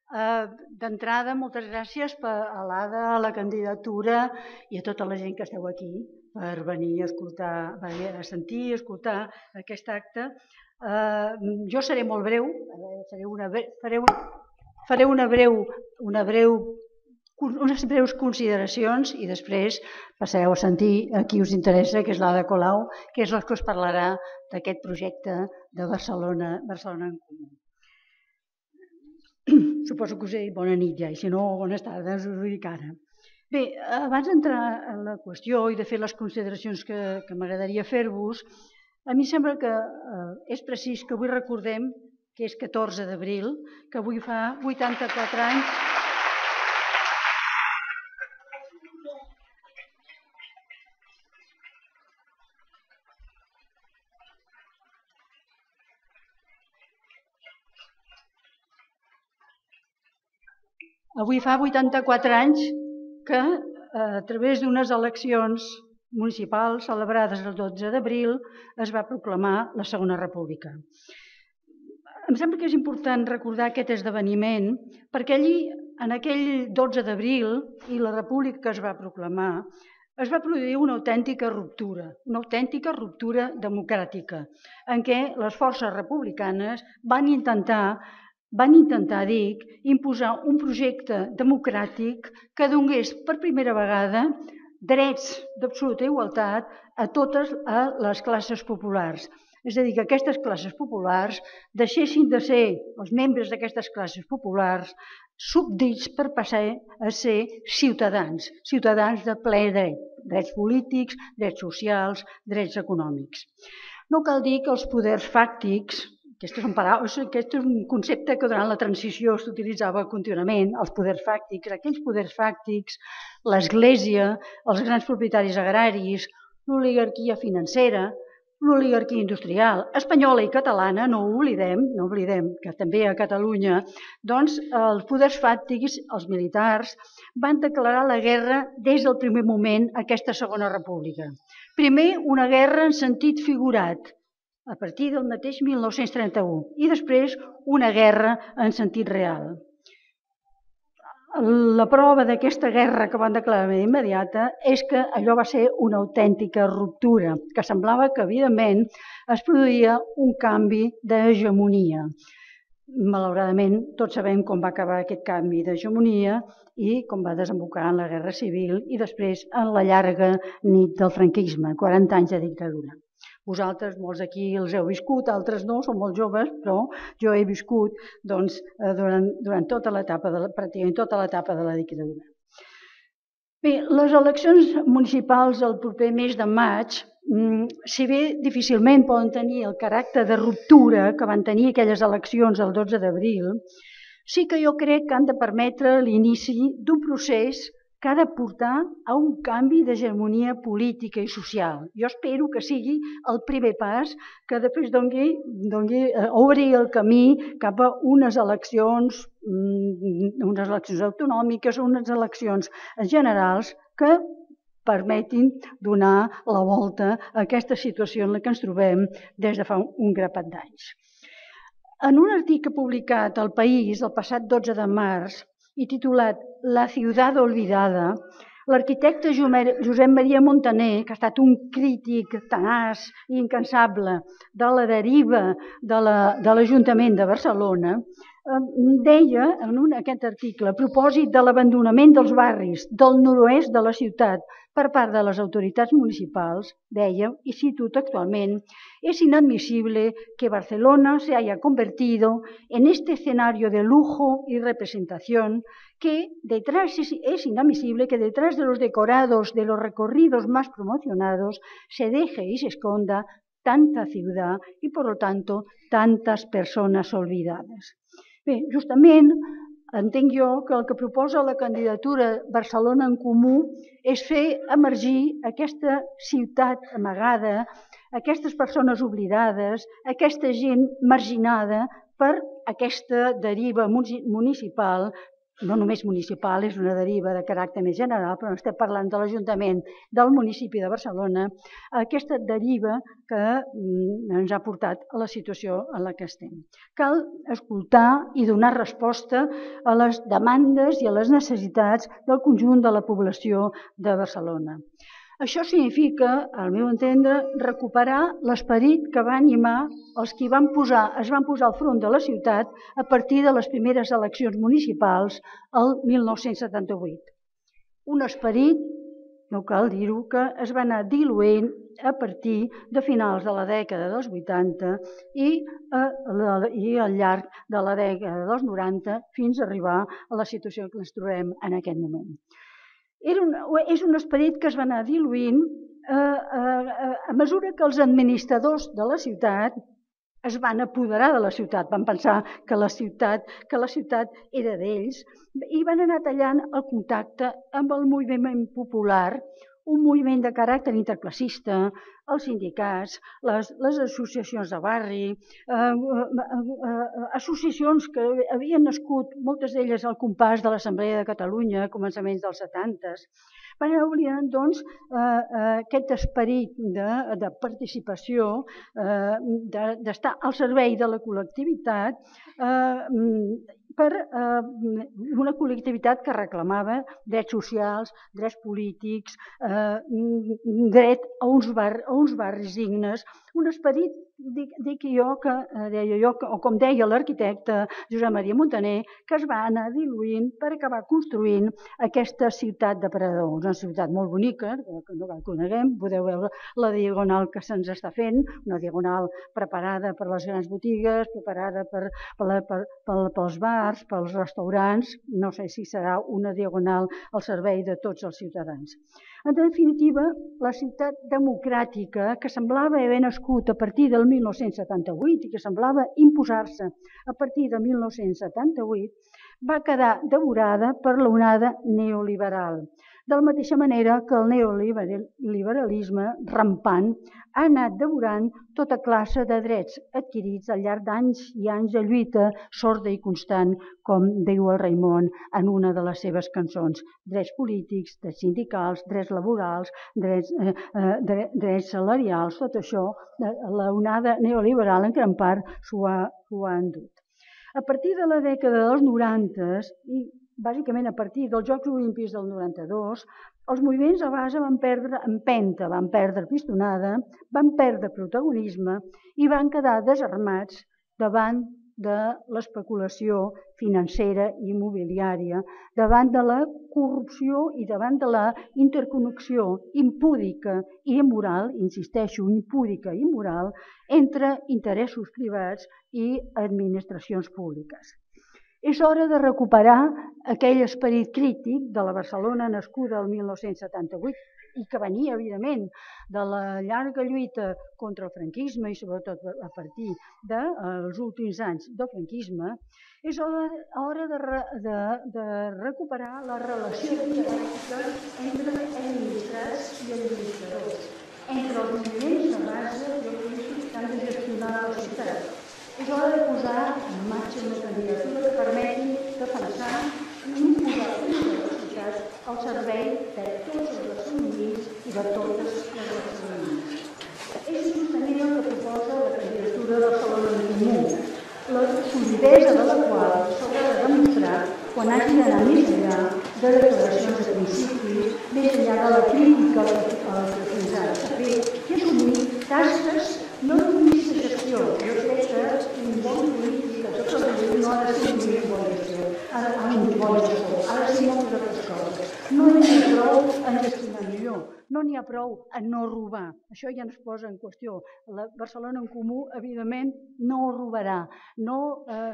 D'entrada, moltes gràcies a l'Ada, a la candidatura i a tota la gent que esteu aquí per venir a escoltar, a sentir i escoltar aquest acte. Jo seré molt breu, faré unes breus consideracions i després passareu a sentir a qui us interessa, que és l'Ada Colau, que és la que us parlarà d'aquest projecte de Barcelona en Comú. Suposo que us he dit bona nit ja, i si no, bones tardes, us ho dic ara. Bé, abans d'entrar en la qüestió i de fer les consideracions que m'agradaria fer-vos, a mi sembla que és precís que avui recordem que és 14 d'abril, que avui fa 84 anys... Avui fa 84 anys que, a través d'unes eleccions municipals celebrades el 12 d'abril, es va proclamar la Segona República. Em sembla que és important recordar aquest esdeveniment perquè allí, en aquell 12 d'abril i la república que es va proclamar, es va produir una autèntica ruptura democràtica, en què les forces republicanes van intentar, imposar un projecte democràtic que donés per primera vegada drets d'absoluta igualtat a totes les classes populars. És a dir, que aquestes classes populars deixessin de ser, els membres d'aquestes classes populars, súbdits per passar a ser ciutadans, ciutadans de ple dret, drets polítics, drets socials, drets econòmics. No cal dir que els poders fàctics, aquest és un concepte que durant la transició s'utilitzava contínuament, els poders fàctics, aquells poders fàctics, l'Església, els grans propietaris agraris, l'oligarquia financera, l'oligarquia industrial, espanyola i catalana, no oblidem que també a Catalunya, doncs els poders fàctics, els militars, van declarar la guerra des del primer moment a aquesta Segona República. Primer, una guerra en sentit figurat, a partir del mateix 1931, i després una guerra en sentit real. La prova d'aquesta guerra que van declarar immediata és que allò va ser una autèntica ruptura, que semblava que, evidentment, es produïa un canvi d'hegemonia. Malauradament, tots sabem com va acabar aquest canvi d'hegemonia i com va desembocar en la Guerra Civil i després en la llarga nit del franquisme, 40 anys de dictadura. Vosaltres, molts aquí els heu viscut, altres no, són molt joves, però jo he viscut durant tota l'etapa, pràcticament tota l'etapa de la dictadura. Bé, les eleccions municipals el proper mes de maig, si bé difícilment poden tenir el caràcter de ruptura que van tenir aquelles eleccions el 12 d'abril, sí que jo crec que han de permetre l'inici d'un procés que ha de portar a un canvi d'hegemonia política i social. Jo espero que sigui el primer pas que després obri el camí cap a unes eleccions autonòmiques, unes eleccions generals que permetin donar la volta a aquesta situació en la que ens trobem des de fa un grapat d'anys. En un article publicat al País el passat 12 de març i titulat La ciudad olvidada, l'arquitecte Josep Maria Montaner, que ha estat un crític tenaç i incansable de la deriva de l'Ajuntament de Barcelona, deia en aquest article, a propòsit de l'abandonament dels barris del nord-oest de la ciutat per part de les autoritats municipals, deia, i cito textualment, es inadmisible que Barcelona se haya convertido en este escenario de lujo y representación es inadmisible que detrás de los decorados de los recorridos más promocionados se deje y se esconda tanta ciudad y, por lo tanto, tantas personas olvidadas. Bé, justament entenc jo que el que proposa la candidatura Barcelona en Comú és fer emergir aquesta ciutat amagada, aquestes persones oblidades, aquesta gent marginada per aquesta deriva municipal no només municipal, és una deriva de caràcter més general, però estem parlant de l'Ajuntament del municipi de Barcelona, aquesta deriva que ens ha portat a la situació en la que estem. Cal escoltar i donar resposta a les demandes i a les necessitats del conjunt de la població de Barcelona. Això significa, al meu entendre, recuperar l'esperit que va animar els qui es van posar al front de la ciutat a partir de les primeres eleccions municipals el 1978. Un esperit, no cal dir-ho, que es va anar diluint a partir de finals de la dècada dels 80 i al llarg de la dècada dels 90 fins a arribar a la situació que ens trobem en aquest moment. És un esperit que es va anar diluint a mesura que els administradors de la ciutat es van apoderar de la ciutat, van pensar que la ciutat era d'ells i van anar tallant el contacte amb el moviment popular, un moviment de caràcter interclassista, els sindicats, les associacions de barri, associacions que havien nascut, moltes d'elles al compàs de l'Assemblea de Catalunya a començaments dels 70s, van anar oblidant doncs, aquest esperit de participació, d'estar al servei de la col·lectivitat, per una col·lectivitat que reclamava drets socials, drets polítics, dret a uns barris dignes, un esperit, o com deia l'arquitecte Josep Maria Montaner, que es va anar diluint per acabar construint aquesta ciutat de Parador, una ciutat molt bonica, que no la coneguem, podeu veure la diagonal que se'ns està fent, una diagonal preparada per les grans botigues, preparada pels bars, pels restaurants, no sé si serà una diagonal al servei de tots els ciutadans. En definitiva, la ciutat democràtica, que semblava haver nascut a partir del 1978 i que semblava imposar-se a partir de 1978, va quedar devorada per l'onada neoliberal. De la mateixa manera que el neoliberalisme rampant ha anat devorant tota classe de drets adquirits al llarg d'anys i anys de lluita sorda i constant, com diu el Raimon en una de les seves cançons. Drets polítics, drets sindicals, drets laborals, drets salarials, tot això, l'onada neoliberal en gran part s'ho ha endut. A partir de la dècada dels 90 i bàsicament a partir dels Jocs Olímpics del 92, els moviments de base van perdre empenta, van perdre pistonada, van perdre protagonisme i van quedar desarmats davant de l'especulació financera i immobiliària, davant de la corrupció i davant de la interconnexió impúdica i immoral, insisteixo, impúdica i immoral, entre interessos privats i administracions públiques. És hora de recuperar aquell esperit crític de la Barcelona nascuda el 1978 i que venia, evidentment, de la llarga lluita contra el franquisme i sobretot a partir dels últims anys del franquisme. És hora de recuperar la relació dialèctica entre administrats i administradors, entre els moviments de base i els polítics que han de gestionar la ciutat. És hora de posar en marxa una candidatura que permeti defensar i imposar la ciutat al servei de tots els barcelonins i de totes les barcelonines. És justament el que proposa la candidatura de Barcelona en Comú, la solidesa de la qual s'haurà de demostrar quan hagi d'anar més enllà de declaracions de principi, més enllà de la crítica a la que fins ara s'ha fet i assumir tasques no només de gestió. Jo crec que un bon polític, que tot el que no ha de ser un bon gestor, ha de ser moltes altres coses. No n'hi ha prou en gestionar millor, no n'hi ha prou en no robar. Això ja no es posa en qüestió. La Barcelona en Comú, evidentment, no robarà, no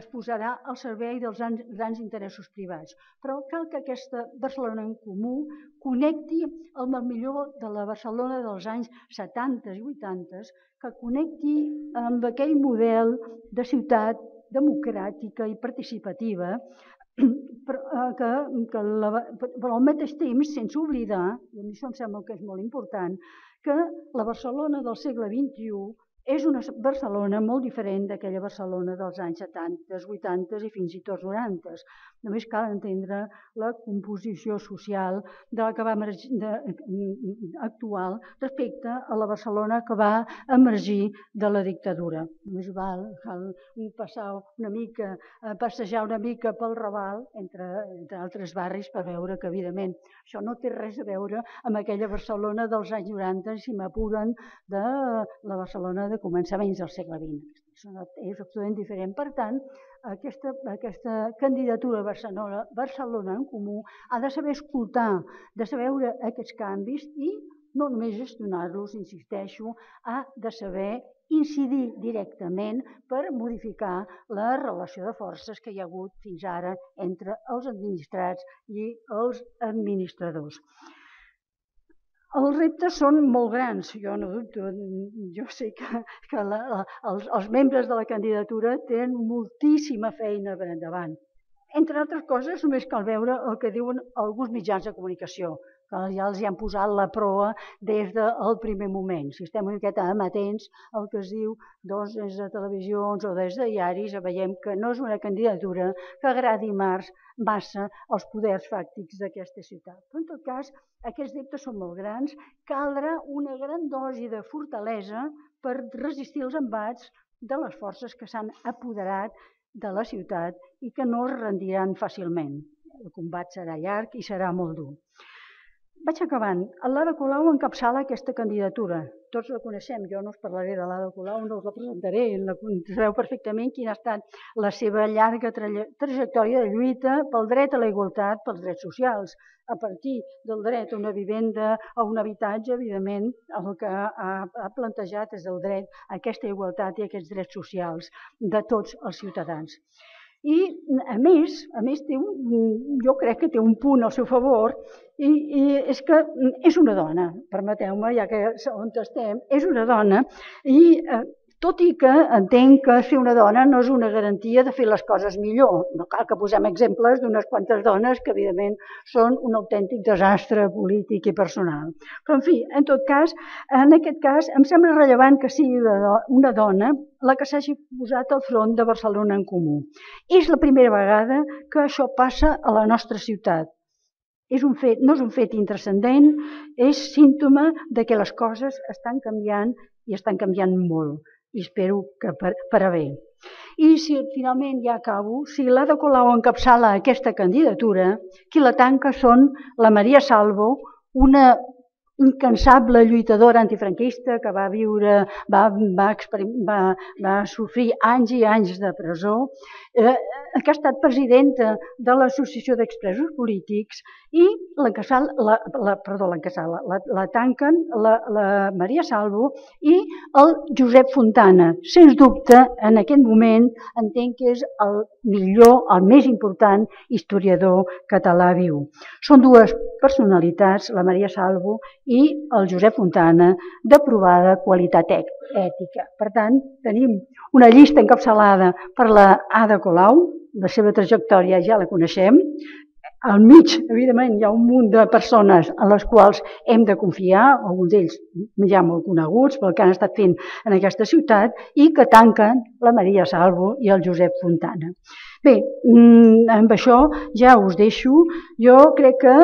es posarà al servei dels grans interessos privats. Però cal que aquesta Barcelona en Comú connecti amb el millor de la Barcelona dels anys 70 i 80, que connecti amb aquell model de ciutat democràtica i participativa, però al mateix temps, sense oblidar, i a mi això em sembla que és molt important, que la Barcelona del segle XXI És una Barcelona molt diferent d'aquella Barcelona dels anys 70, 80 i fins i tot 90. Només cal entendre la composició social de la que va actual respecte a la Barcelona que va emergir de la dictadura. Només cal passejar una mica pel Raval, entre altres barris, per veure que, evidentment, això no té res a veure amb aquella Barcelona dels anys 90, si m'apuren, de la Barcelona de començaments del segle XX. És absolutament diferent. Per tant, aquesta candidatura Barcelona en Comú ha de saber escoltar, de saber veure aquests canvis i no només gestionar-los, insisteixo, ha de saber incidir directament per modificar la relació de forces que hi ha hagut fins ara entre els administrats i els administradors. Els reptes són molt grans, jo no dubto, jo sé que els membres de la candidatura tenen moltíssima feina per endavant. Entre altres coses, només cal veure el que diuen alguns mitjans de comunicació, que ja els hi han posat la proa des del primer moment. Si estem una miqueta amatents al que es diu des de televisions o des de diaris, veiem que no és una candidatura que agradi massa als poders fàctics d'aquesta ciutat. Però en tot cas, aquests reptes són molt grans, caldrà una gran dosi de fortalesa per resistir els embats de les forces que s'han apoderat de la ciutat i que no es rendiran fàcilment. El combat serà llarg i serà molt dur. Vaig acabant. L'Ada Colau encapçala aquesta candidatura. Tots la coneixem, jo no us parlaré de l'Ada Colau, no us la presentaré, sabeu perfectament quina ha estat la seva llarga trajectòria de lluita pel dret a la igualtat, pels drets socials. A partir del dret a una vivenda, a un habitatge, evidentment, el que ha plantejat és el dret a aquesta igualtat i a aquests drets socials de tots els ciutadans. I, a més jo crec que té un punt al seu favor i és que és una dona, permeteu-me, ja que on estem, és una dona i tot i que entenc que ser una dona no és una garantia de fer les coses millor. No cal que posem exemples d'unes quantes dones que, evidentment, són un autèntic desastre polític i personal. Però, en fi, en tot cas, en aquest cas, em sembla rellevant que sigui una dona la que s'hagi posat al front de Barcelona en Comú. És la primera vegada que això passa a la nostra ciutat. No és un fet intranscendent, és símptoma de que les coses estan canviant i estan canviant molt. I espero que per a bé. I si finalment ja acabo, si l'Ada Colau encapçala aquesta candidatura, qui la tanca són la Maria Salvo, una incansable lluitadora antifranquista que va sofrir anys i anys de presó, que ha estat presidenta de l'Associació d'Expresos Polítics i la tanquen la Maria Salvo i el Josep Fontana. Sens dubte, en aquest moment, entenc que és el millor, el més important historiador català viu. Són dues personalitats, la Maria Salvo i el Josep Fontana, de provada qualitat ètica. Per tant, tenim una llista encapçalada per l'Ada Colau, la seva trajectòria ja la coneixem. Al mig, evidentment, hi ha un munt de persones en les quals hem de confiar, alguns d'ells ja molt coneguts pel que han estat fent en aquesta ciutat, i que tanquen la Maria Salvo i el Josep Fontana. Bé, amb això ja us deixo. Jo crec que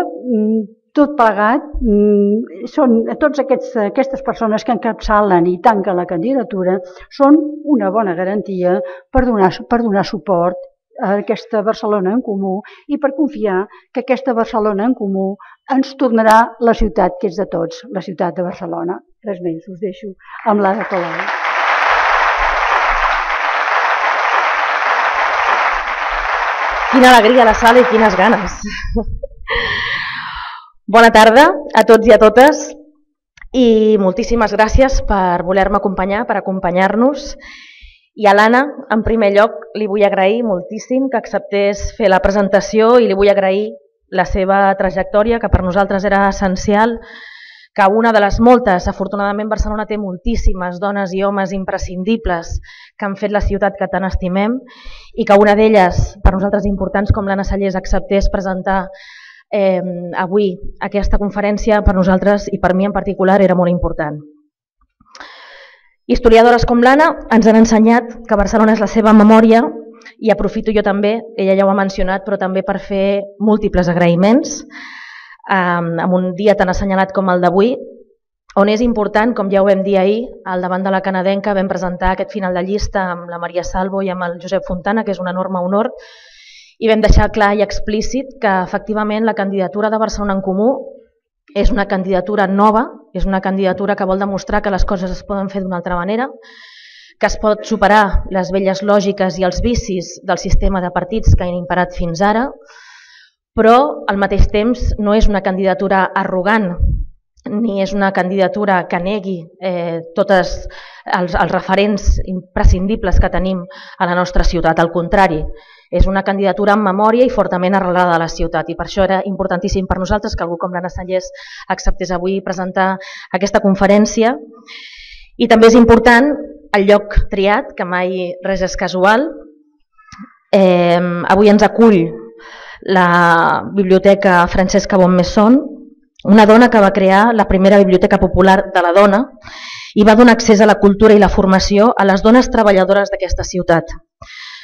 tot plegat, totes aquestes persones que encapçalen i tanquen la candidatura són una bona garantia per donar suport a aquesta Barcelona en Comú i per confiar que aquesta Barcelona en Comú ens tornarà la ciutat que és de tots, la ciutat de Barcelona. Res més, us deixo amb l'Ada Colau. Quina alegria a la sala i quines ganes. Bona tarda a tots i a totes i moltíssimes gràcies per voler-me acompanyar, per acompanyar-nos. I a l'Anna, en primer lloc, li vull agrair moltíssim que acceptés fer la presentació i li vull agrair la seva trajectòria, que per nosaltres era essencial, que una de les moltes, afortunadament Barcelona té moltíssimes dones i homes imprescindibles que han fet la ciutat que tant estimem i que una d'elles, per nosaltres importants com l'Anna Sallés, acceptés presentar avui aquesta conferència, per nosaltres i per mi en particular era molt important. Historiadores com l'Anna ens han ensenyat que Barcelona és la seva memòria i aprofito jo també, ella ja ho ha mencionat, però també per fer múltiples agraïments en un dia tan assenyalat com el d'avui, on és important, com ja ho vam dir ahir, al davant de la canadenca vam presentar aquest final de llista amb la Maria Salvo i amb el Josep Fontana, que és un enorme honor, i vam deixar clar i explícit que efectivament la candidatura de Barcelona en Comú és una candidatura nova, és una candidatura que vol demostrar que les coses es poden fer d'una altra manera, que es pot superar les velles lògiques i els vicis del sistema de partits que han imperat fins ara, però al mateix temps no és una candidatura arrogant ni és una candidatura que negui tots els referents imprescindibles que tenim a la nostra ciutat. Al contrari, és una candidatura amb memòria i fortament arrelada a la ciutat i per això era importantíssim per nosaltres que algú com l'Anna Sallés acceptés avui presentar aquesta conferència. I també és important el lloc triat, que mai res és casual. Avui ens acull la Biblioteca Francesca Bonmesson, una dona que va crear la primera biblioteca popular de la dona i va donar accés a la cultura i la formació a les dones treballadores d'aquesta ciutat.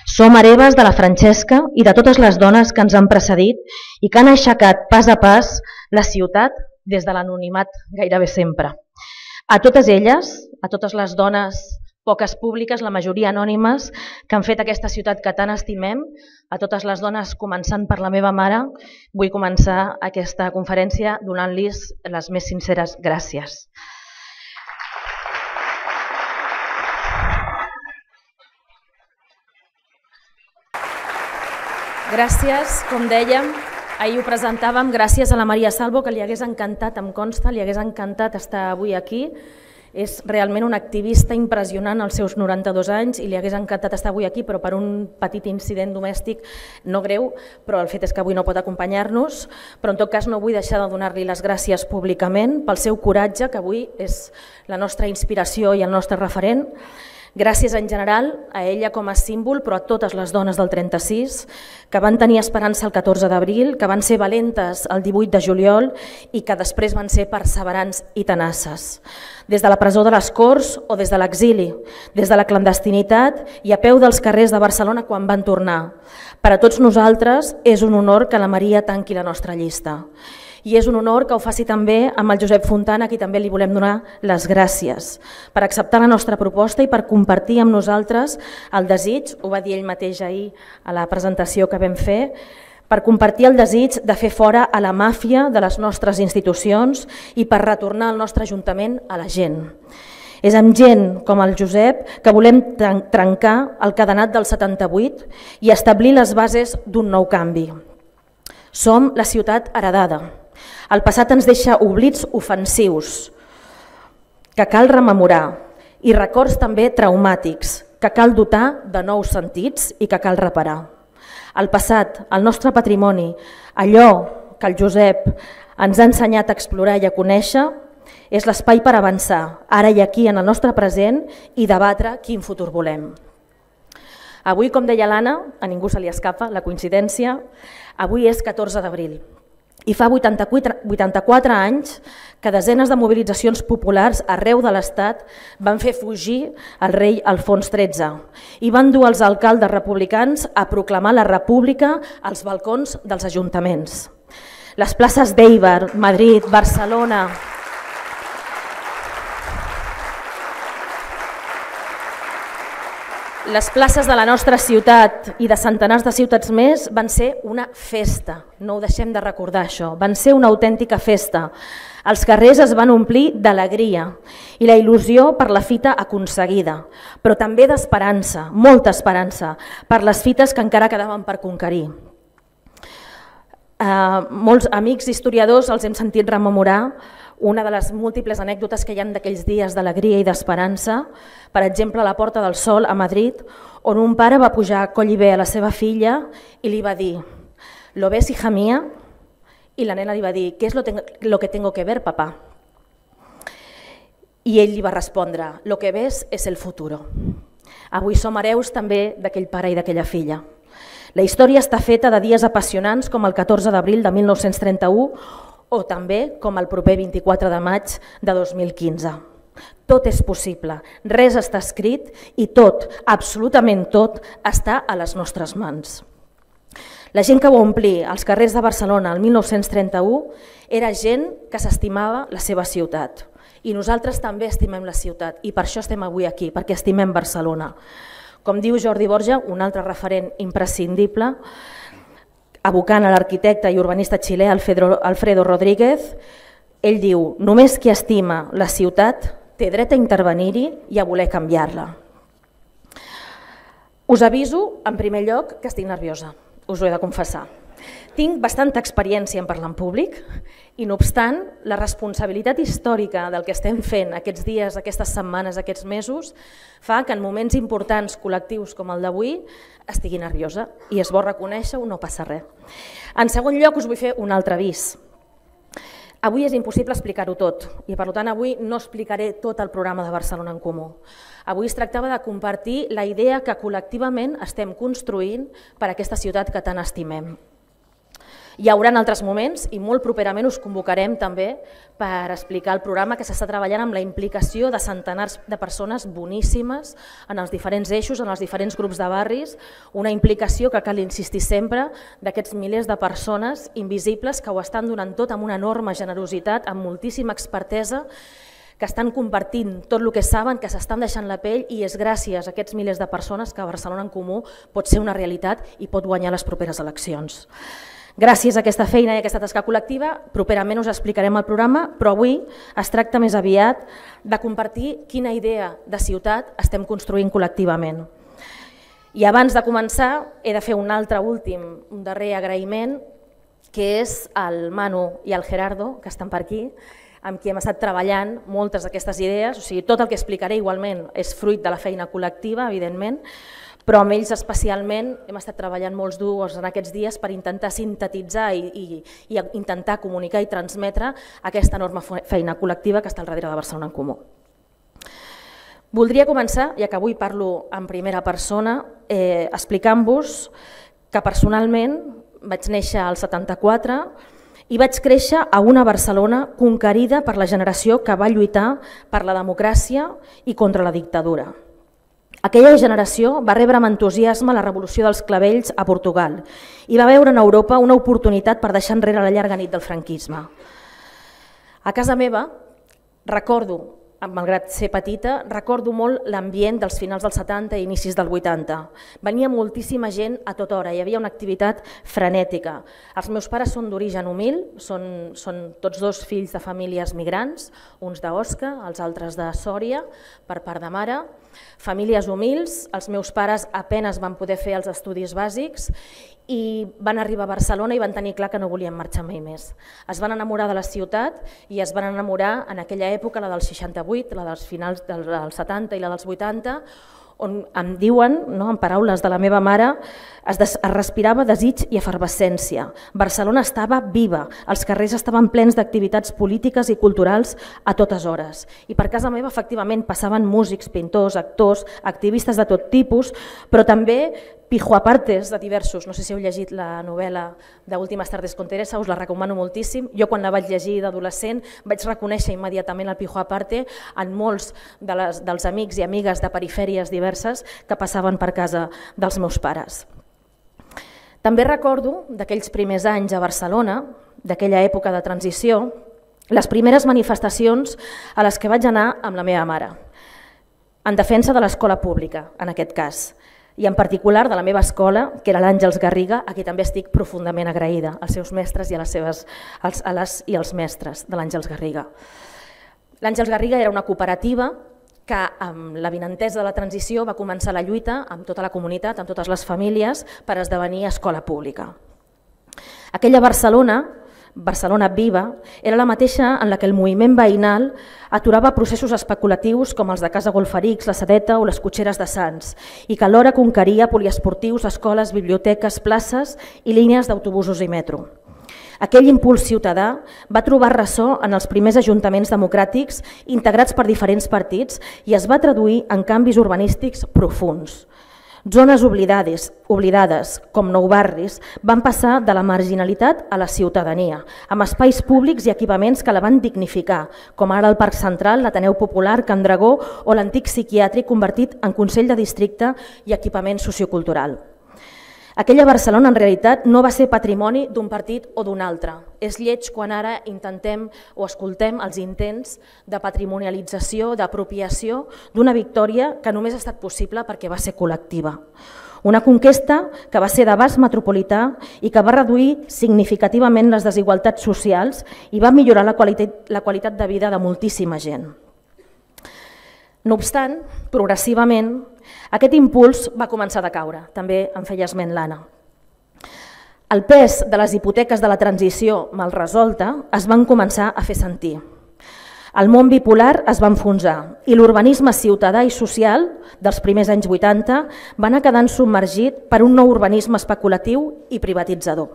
Som hereves de la Francesca i de totes les dones que ens han precedit i que han aixecat pas a pas la ciutat des de l'anonimat gairebé sempre. A totes elles, a totes les dones poques públiques, la majoria anònimes, que han fet aquesta ciutat que tant estimem, a totes les dones, començant per la meva mare, vull començar aquesta conferència donant-los les més sinceres gràcies. Gràcies, com dèiem, ahir ho presentàvem, gràcies a la Maria Salvo, que li hagués encantat, em consta, li hagués encantat estar avui aquí. És realment un activista impressionant als seus 92 anys i li hagués encantat estar avui aquí, però per un petit incident domèstic no greu, però el fet és que avui no pot acompanyar-nos. Però en tot cas no vull deixar de donar-li les gràcies públicament pel seu coratge, que avui és la nostra inspiració i el nostre referent. Gràcies en general a ella com a símbol, però a totes les dones del 36, que van tenir esperança el 14 d'abril, que van ser valentes el 18 de juliol i que després van ser perseverants i tenaces. Des de la presó de les Corts o des de l'exili, des de la clandestinitat i a peu dels carrers de Barcelona quan van tornar. Per a tots nosaltres és un honor que la Maria tanqui la nostra llista. I és un honor que ho faci també amb el Josep Fontana, a qui també li volem donar les gràcies per acceptar la nostra proposta i per compartir amb nosaltres el desig, ho va dir ell mateix ahir a la presentació que vam fer, per compartir el desig de fer fora a la màfia de les nostres institucions i per retornar el nostre Ajuntament a la gent. És amb gent com el Josep que volem trencar el cadenat del 78 i establir les bases d'un nou canvi. Som la ciutat heredada. El passat ens deixa oblits ofensius que cal rememorar i records també traumàtics que cal dotar de nous sentits i que cal reparar. El passat, el nostre patrimoni, allò que el Josep ens ha ensenyat a explorar i a conèixer, és l'espai per avançar, ara i aquí en el nostre present i debatre quin futur volem. Avui, com deia l'Anna, a ningú se li escapa la coincidència, avui és 14 d'abril. I fa 84 anys que desenes de mobilitzacions populars arreu de l'Estat van fer fugir el rei Alfons XIII i van dur els alcaldes republicans a proclamar la república als balcons dels ajuntaments. Les places d'Eibar, Madrid, Barcelona... Les places de la nostra ciutat i de centenars de ciutats més van ser una festa, no ho deixem de recordar això, van ser una autèntica festa. Els carrers es van omplir d'alegria i la il·lusió per la fita aconseguida, però també d'esperança, molta esperança, per les fites que encara quedaven per conquerir. Molts amics historiadors els hem sentit rememorar una de les múltiples anècdotes que hi ha d'aquells dies d'alegria i d'esperança, per exemple a la Porta del Sol a Madrid, on un pare va pujar a collibè a la seva filla i li va dir «¿Lo ves, hija mía?» I la nena li va dir «¿Qué es lo que tengo que ver, papá?» I ell li va respondre «Lo que ves es el futuro». Avui som hereus també d'aquell pare i d'aquella filla. La història està feta de dies apassionants com el 14 d'abril de 1931 o també com el proper 24 de maig de 2015. Tot és possible, res està escrit i tot, absolutament tot, està a les nostres mans. La gent que va omplir els carrers de Barcelona el 1931 era gent que s'estimava la seva ciutat. I nosaltres també estimem la ciutat i per això estem avui aquí, perquè estimem Barcelona. Com diu Jordi Borja, un altre referent imprescindible, evocant a l'arquitecte i urbanista xilè Alfredo Rodríguez, ell diu: només qui estima la ciutat té dret a intervenir-hi i a voler canviar-la. Us aviso, en primer lloc, que estic nerviosa, us ho he de confessar. Tinc bastanta experiència en parlar en públic i, no obstant, la responsabilitat històrica del que estem fent aquests dies, aquestes setmanes, aquests mesos, fa que en moments importants col·lectius com el d'avui estigui nerviosa i és bo reconèixer-ho, no passa res. En segon lloc, us vull fer un altre avís. Avui és impossible explicar-ho tot i, per tant, avui no explicaré tot el programa de Barcelona en Comú. Avui es tractava de compartir la idea que col·lectivament estem construint per a aquesta ciutat que tant estimem. Hi haurà altres moments i molt properament us convocarem també per explicar el programa que s'està treballant amb la implicació de centenars de persones boníssimes en els diferents eixos, en els diferents grups de barris, una implicació que cal insistir sempre d'aquests milers de persones invisibles que ho estan donant tot amb una enorme generositat, amb moltíssima expertesa, que estan compartint tot el que saben, que s'estan deixant la pell i és gràcies a aquests milers de persones que Barcelona en Comú pot ser una realitat i pot guanyar les properes eleccions. Gràcies a aquesta feina i a aquesta tasca col·lectiva, properament us explicarem el programa, però avui es tracta més aviat de compartir quina idea de ciutat estem construint col·lectivament. I abans de començar he de fer un darrer agraïment, que és al Manu i al Gerardo, que estan per aquí, amb qui hem estat treballant moltes d'aquestes idees, o sigui, tot el que explicaré igualment és fruit de la feina col·lectiva, evidentment, però amb ells especialment hem estat treballant molts durs en aquests dies per intentar sintetitzar i intentar comunicar i transmetre aquesta enorme feina col·lectiva que està al darrere de Barcelona en Comú. Voldria començar, ja que avui parlo en primera persona, explicant-vos que personalment vaig néixer al 74 i vaig créixer a una Barcelona conquerida per la generació que va lluitar per la democràcia i contra la dictadura. Aquella generació va rebre amb entusiasme la revolució dels clavells a Portugal i va veure en Europa una oportunitat per deixar enrere la llarga nit del franquisme. A casa meva, recordo, malgrat ser petita, recordo molt l'ambient dels finals dels 70 i inicis del 80. Venia moltíssima gent a tota hora, hi havia una activitat frenètica. Els meus pares són d'origen humil, són tots dos fills de famílies migrants, uns d'Osca, els altres de Sòria, per part de mare. Famílies humils, els meus pares apenas van poder fer els estudis bàsics i van arribar a Barcelona i van tenir clar que no volien marxar mai més. Es van enamorar de la ciutat i es van enamorar en aquella època, la del 68, la dels finals dels 70 i la dels 80, on em diuen, en paraules de la meva mare, es respirava desig i efervescència. Barcelona estava viva, els carrers estaven plens d'activitats polítiques i culturals a totes hores. I per casa meva, efectivament, passaven músics, pintors, actors, activistes de tot tipus, però també pijuapartes de diversos. No sé si heu llegit la novel·la d'Últimes tardes con Teresa, us la recomano moltíssim. Jo quan la vaig llegir d'adolescent vaig reconèixer immediatament el pijuaparte en molts dels amics i amigues de perifèries diverses que passaven per casa dels meus pares. També recordo d'aquells primers anys a Barcelona, d'aquella època de transició, les primeres manifestacions a les que vaig anar amb la meva mare, en defensa de l'escola pública, en aquest cas, i en particular de la meva escola, que era l'Àngels Garriga, a qui també estic profundament agraïda, als seus mestres i a les i als mestres de l'Àngels Garriga. L'Àngels Garriga era una cooperativa que amb l'avinentesa de la transició va començar la lluita amb tota la comunitat, amb totes les famílies, per esdevenir escola pública. Aquella Barcelona viva, era la mateixa en la que el moviment veïnal aturava processos especulatius com els de Casa Golferics, la Sedeta o les cotxeres de Sants, i que alhora conqueria poliesportius, escoles, biblioteques, places i línies d'autobusos i metro. Aquell impuls ciutadà va trobar ressò en els primers ajuntaments democràtics integrats per diferents partits i es va traduir en canvis urbanístics profunds. Zones oblidades, com nou barris, van passar de la marginalitat a la ciutadania, amb espais públics i equipaments que la van dignificar, com ara el Parc Central, l'Ateneu Popular, Can Dragó o l'antic psiquiàtric convertit en Consell de Districte i equipament sociocultural. Aquella Barcelona en realitat no va ser patrimoni d'un partit o d'un altre. És lleig quan ara intentem o escoltem els intents de patrimonialització, d'apropiació d'una victòria que només ha estat possible perquè va ser col·lectiva. Una conquesta que va ser d'abast metropolità i que va reduir significativament les desigualtats socials i va millorar la qualitat de vida de moltíssima gent. No obstant, progressivament, aquest impuls va començar a decaure, també en feia esment l'Anna. El pes de les hipoteques de la transició mal resolta es van començar a fer sentir. El món bipolar es va enfonsar i l'urbanisme ciutadà i social dels primers anys 80 va anar quedant submergit per un nou urbanisme especulatiu i privatitzador.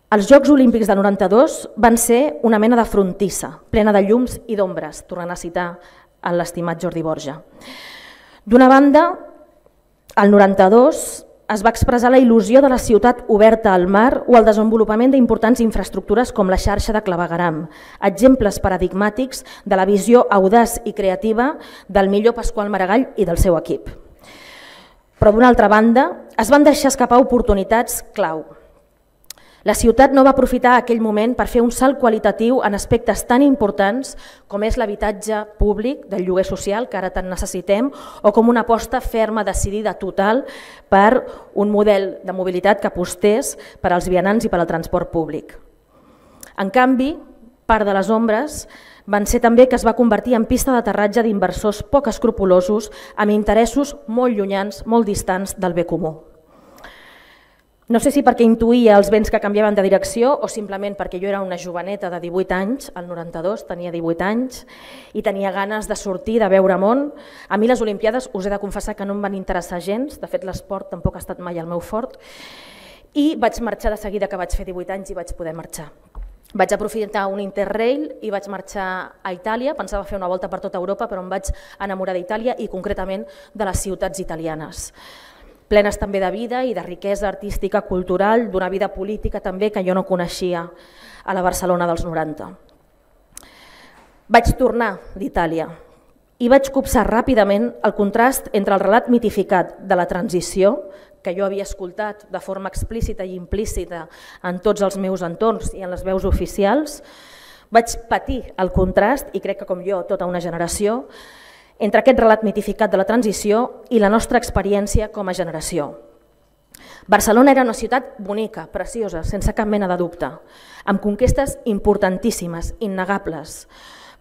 Els Jocs Olímpics de 92 van ser una mena de frontissa, plena de llums i d'ombres, tornant a citar l'estimat Jordi Borja. D'una banda, el 92 es va expressar la il·lusió de la ciutat oberta al mar o el desenvolupament d'importants infraestructures com la xarxa de clavegueram, exemples paradigmàtics de la visió audaç i creativa del millor Pasqual Maragall i del seu equip. Però d'una altra banda, es van deixar escapar oportunitats clau. La ciutat no va aprofitar aquell moment per fer un salt qualitatiu en aspectes tan importants com és l'habitatge públic del lloguer social, que ara tant necessitem, o com una aposta ferma, decidida, total, per un model de mobilitat que apostés per als vianants i per al transport públic. En canvi, part de les ombres van ser també que es va convertir en pista d'aterratge d'inversors poc escrupolosos amb interessos molt llunyans, molt distants del bé comú. No sé si perquè intuïa els vents que canviaven de direcció o simplement perquè jo era una joveneta de 18 anys, el 92 tenia 18 anys, i tenia ganes de sortir, de veure món. A mi les Olimpiades us he de confessar que no em van interessar gens, de fet l'esport tampoc ha estat mai el meu fort, i vaig marxar de seguida que vaig fer 18 anys i vaig poder marxar. Vaig aprofitar un Interrail i vaig marxar a Itàlia, pensava fer una volta per tota Europa, però em vaig enamorar d'Itàlia i concretament de les ciutats italianes, plenes també de vida i de riquesa artística, cultural, d'una vida política també que jo no coneixia a la Barcelona dels 90. Vaig tornar d'Itàlia i vaig copsar ràpidament el contrast entre el relat mitificat de la transició, que jo havia escoltat de forma explícita i implícita en tots els meus entorns i en les veus oficials. Vaig patir el contrast, i crec que com jo tota una generació, entre aquest relat mitificat de la transició i la nostra experiència com a generació. Barcelona era una ciutat bonica, preciosa, sense cap mena de dubte, amb conquestes importantíssimes, innegables,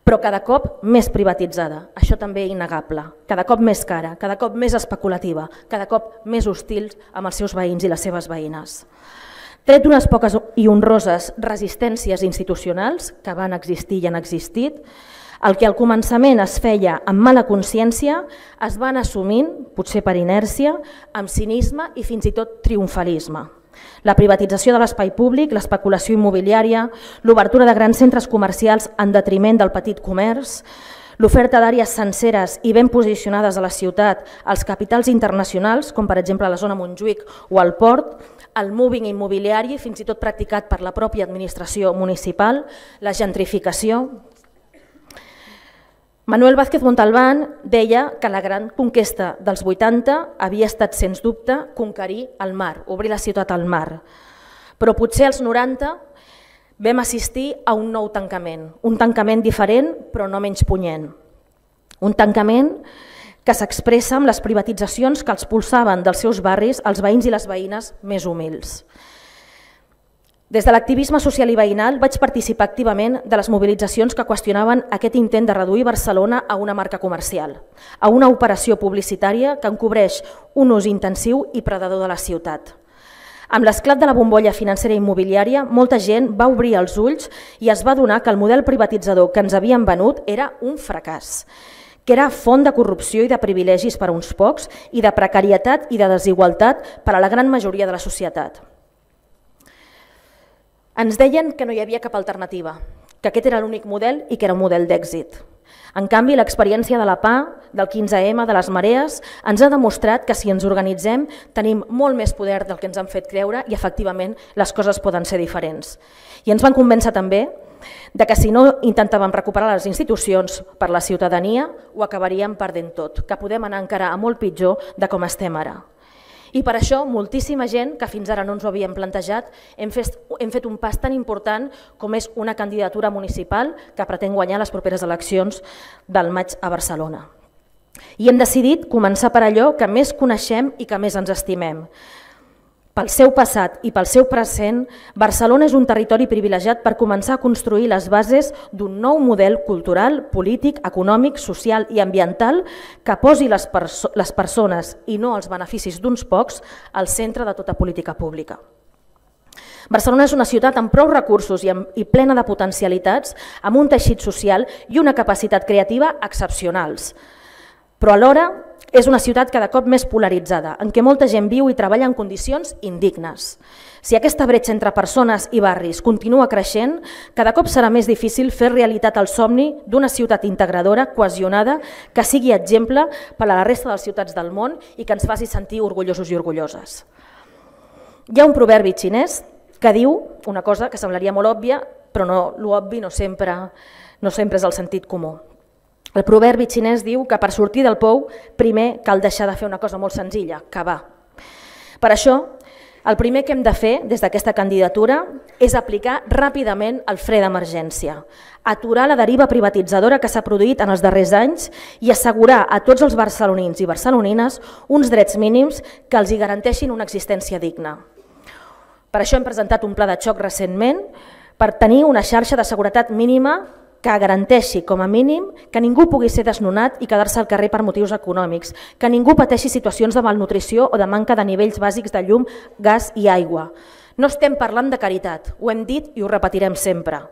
però cada cop més privatitzada, això també innegable, cada cop més cara, cada cop més especulativa, cada cop més hostil amb els seus veïns i les seves veïnes. Tret d'unes poques i honroses resistències institucionals que van existir i han existit, el que al començament es feia amb mala consciència es va anar assumint, potser per inèrcia, amb cinisme i fins i tot triomfalisme. La privatització de l'espai públic, l'especulació immobiliària, l'obertura de grans centres comercials en detriment del petit comerç, l'oferta d'àrees senceres i ben posicionades a la ciutat als capitals internacionals, com per exemple la zona Montjuïc o el Port, el moving immobiliari, fins i tot practicat per la pròpia administració municipal, la gentrificació. Manuel Vázquez Montalbán deia que la gran conquesta dels 80 havia estat, sens dubte, conquerir el mar, obrir la ciutat al mar. Però potser als 90 vam assistir a un nou tancament diferent però no menys punyent. Un tancament que s'expressa amb les privatitzacions que els expulsaven dels seus barris els veïns i les veïnes més humils. Des de l'activisme social i veïnal vaig participar activament de les mobilitzacions que qüestionaven aquest intent de reduir Barcelona a una marca comercial, a una operació publicitària que encobreix un ús intensiu i predador de la ciutat. Amb l'esclat de la bombolla financera i immobiliària, molta gent va obrir els ulls i es va adonar que el model privatitzador que ens havien venut era un fracàs, que era font de corrupció i de privilegis per a uns pocs i de precarietat i de desigualtat per a la gran majoria de la societat. Ens deien que no hi havia cap alternativa, que aquest era l'únic model i que era un model d'èxit. En canvi, l'experiència de la PA, del 15M, de les marees, ens ha demostrat que si ens organitzem tenim molt més poder del que ens han fet creure i efectivament les coses poden ser diferents. I ens van convèncer també que si no intentàvem recuperar les institucions per la ciutadania ho acabaríem perdent tot, que podem anar encara a molt pitjor de com estem ara. I per això moltíssima gent que fins ara no ens ho havíem plantejat hem fet un pas tan important com és una candidatura municipal que pretén guanyar les properes eleccions del maig a Barcelona. I hem decidit començar per allò que més coneixem i que més ens estimem. Pel seu passat i pel seu present, Barcelona és un territori privilegiat per començar a construir les bases d'un nou model cultural, polític, econòmic, social i ambiental que posi les persones i no els beneficis d'uns pocs al centre de tota política pública. Barcelona és una ciutat amb prou recursos i plena de potencialitats, amb un teixit social i una capacitat creativa excepcionals. Però alhora és una ciutat cada cop més polaritzada, en què molta gent viu i treballa en condicions indignes. Si aquesta bretxa entre persones i barris continua creixent, cada cop serà més difícil fer realitat el somni d'una ciutat integradora, cohesionada, que sigui exemple per a la resta de les ciutats del món i que ens faci sentir orgullosos i orgulloses. Hi ha un proverbi xinès que diu una cosa que semblaria molt òbvia, però l'obvi no sempre és el sentit comú. El proverbi xinès diu que per sortir del pou primer cal deixar de fer una cosa molt senzilla, cavar. Per això, el primer que hem de fer des d'aquesta candidatura és aplicar ràpidament el fre d'emergència, aturar la deriva privatitzadora que s'ha produït en els darrers anys i assegurar a tots els barcelonins i barcelonines uns drets mínims que els hi garanteixin una existència digna. Per això hem presentat un pla de xoc recentment per tenir una xarxa de seguretat mínima que garanteixi, com a mínim, que ningú pugui ser desnonat i quedar-se al carrer per motius econòmics, que ningú pateixi situacions de malnutrició o de manca de nivells bàsics de llum, gas i aigua. No estem parlant de caritat, ho hem dit i ho repetirem sempre.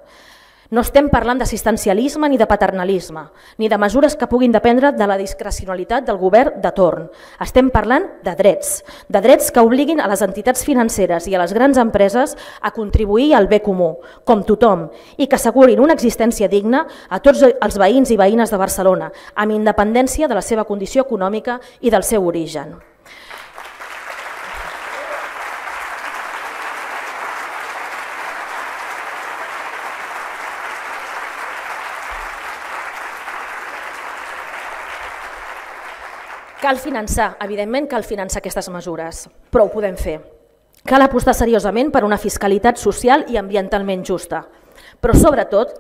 No estem parlant d'assistencialisme ni de paternalisme, ni de mesures que puguin dependre de la discrecionalitat del govern de torn. Estem parlant de drets que obliguin a les entitats financeres i a les grans empreses a contribuir al bé comú, com tothom, i que assegurin una existència digna a tots els veïns i veïnes de Barcelona, amb independència de la seva condició econòmica i del seu origen. Cal finançar, evidentment cal finançar aquestes mesures, però ho podem fer. Cal apostar seriosament per una fiscalitat social i ambientalment justa, però sobretot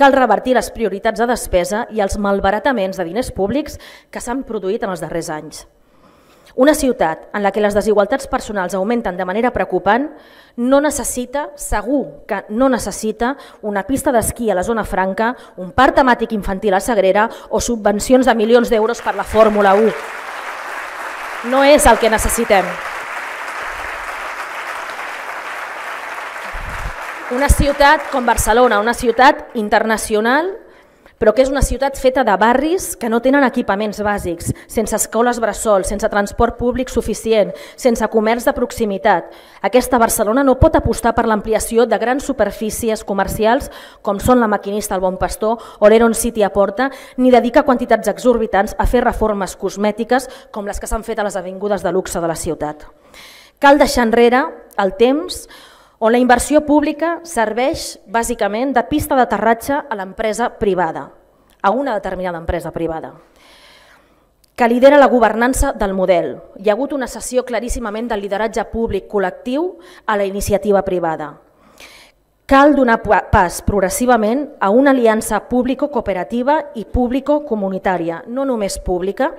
cal revertir les prioritats de despesa i els malbarataments de diners públics que s'han produït en els darrers anys. Una ciutat en la que les desigualtats personals augmenten de manera preocupant no necessita, segur que no necessita, una pista d'esquí a la zona franca, un parc temàtic infantil a Sagrera o subvencions de milions d'euros per la Fórmula 1. No és el que necessitem. Una ciutat com Barcelona, una ciutat internacional, però que és una ciutat feta de barris que no tenen equipaments bàsics, sense escoles bressol, sense transport públic suficient, sense comerç de proximitat. Aquesta Barcelona no pot apostar per l'ampliació de grans superfícies comercials com són la Maquinista al Bon Pastor o l'Heron City a Porta, ni dedicar quantitats exorbitants a fer reformes cosmètiques com les que s'han fet a les avingudes de luxe de la ciutat. Cal deixar enrere el temps on la inversió pública serveix bàsicament de pista d'aterratge a l'empresa privada, a una determinada empresa privada, que lidera la governança del model. Hi ha hagut una cessió claríssimament del lideratge públic col·lectiu a la iniciativa privada. Cal donar pas progressivament a una aliança público-cooperativa i público-comunitària, no només pública,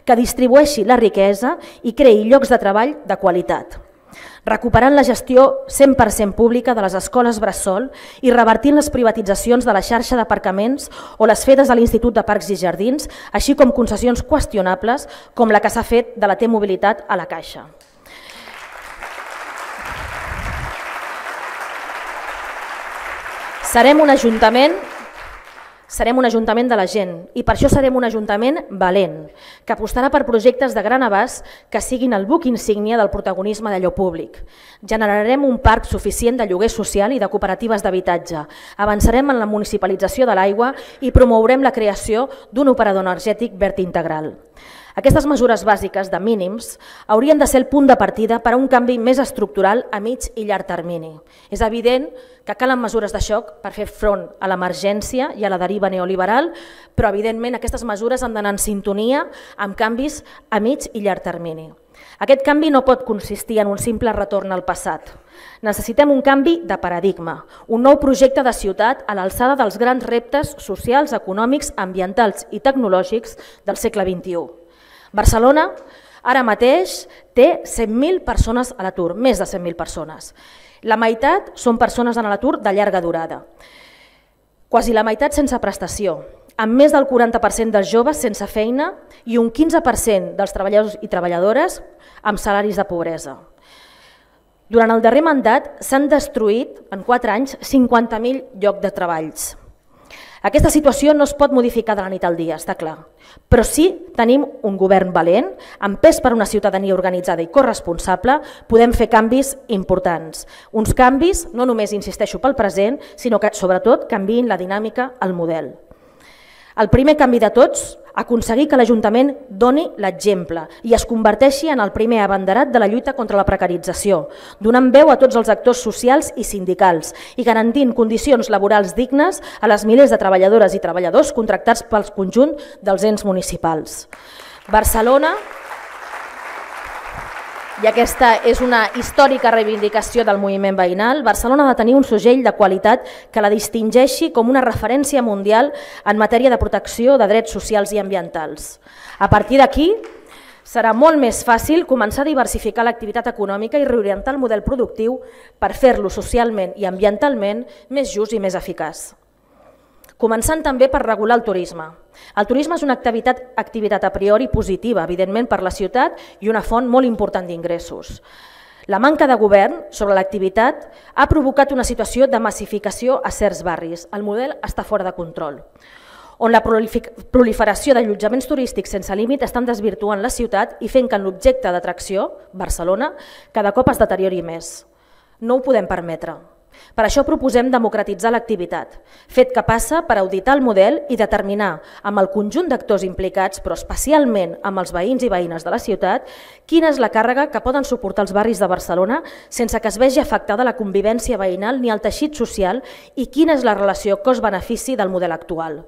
que distribueixi la riquesa i creï llocs de treball de qualitat, recuperant la gestió 100% pública de les escoles bressol i revertint les privatitzacions de la xarxa d'aparcaments o les fetes a l'Institut de Parcs i Jardins, així com concessions qüestionables com la que s'ha fet de la T-Mobilitat a la Caixa. Serem un ajuntament Serem un ajuntament de la gent i per això serem un ajuntament valent, que apostarà per projectes de gran abast que siguin el buc insígnia del protagonisme d'allò públic. Generarem un parc suficient de lloguer social i de cooperatives d'habitatge. Avançarem en la municipalització de l'aigua i promourem la creació d'un operador energètic verd integral. Aquestes mesures bàsiques de mínims haurien de ser el punt de partida per a un canvi més estructural a mig i llarg termini. És evident que calen mesures de xoc per fer front a l'emergència i a la deriva neoliberal, però evidentment aquestes mesures han d'anar en sintonia amb canvis a mig i llarg termini. Aquest canvi no pot consistir en un simple retorn al passat. Necessitem un canvi de paradigma, un nou projecte de ciutat a l'alçada dels grans reptes socials, econòmics, ambientals i tecnològics del segle XXI. Barcelona ara mateix té 100.000 persones a l'atur, més de 100.000 persones. La meitat són persones en l'atur de llarga durada, quasi la meitat sense prestació, amb més del 40% dels joves sense feina i un 15% dels treballadors i treballadores amb salaris de pobresa. Durant el darrer mandat s'han destruït en 4 anys 50.000 llocs de treballs. Aquesta situació no es pot modificar de la nit al dia, està clar, però sí tenim un govern valent, amb pes per una ciutadania organitzada i corresponsable, podem fer canvis importants. Uns canvis, no només insisteixo pel present, sinó que sobretot canviïn la dinàmica, el model. El primer canvi de tots, aconseguir que l'Ajuntament doni l'exemple i es converteixi en el primer abanderat de la lluita contra la precarització, donant veu a tots els actors socials i sindicals i garantint condicions laborals dignes a les milers de treballadores i treballadors contractats pel conjunt dels ens municipals. Barcelona, i aquesta és una històrica reivindicació del moviment veïnal, Barcelona ha de tenir un segell de qualitat que la distingeixi com una referència mundial en matèria de protecció de drets socials i ambientals. A partir d'aquí, serà molt més fàcil començar a diversificar l'activitat econòmica i reorientar el model productiu per fer-lo socialment i ambientalment més just i més eficaç. Començant també per regular el turisme. El turisme és una activitat a priori positiva, evidentment per la ciutat i una font molt important d'ingressos. La manca de govern sobre l'activitat ha provocat una situació de massificació a certs barris. El model està fora de control, on la proliferació d'allotjaments turístics sense límit estan desvirtuant la ciutat i fent que en l'objecte d'atracció, Barcelona, cada cop es deteriori més. No ho podem permetre. Per això proposem democratitzar l'activitat, fet que passa per auditar el model i determinar amb el conjunt d'actors implicats, però especialment amb els veïns i veïnes de la ciutat, quina és la càrrega que poden suportar els barris de Barcelona sense que es vegi afectada la convivència veïnal ni el teixit social i quina és la relació cost-benefici del model actual.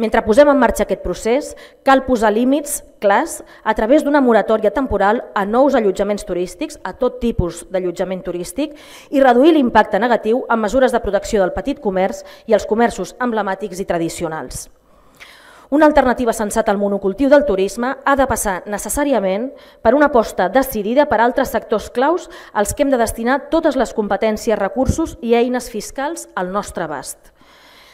Mentre posem en marxa aquest procés, cal posar límits clars a través d'una moratòria temporal a nous allotjaments turístics, a tot tipus d'allotjament turístic, i reduir l'impacte negatiu amb mesures de protecció del petit comerç i els comerços emblemàtics i tradicionals. Una alternativa sensata al monocultiu del turisme ha de passar necessàriament per una aposta decidida per altres sectors claus als que hem de destinar totes les competències, recursos i eines fiscals al nostre abast.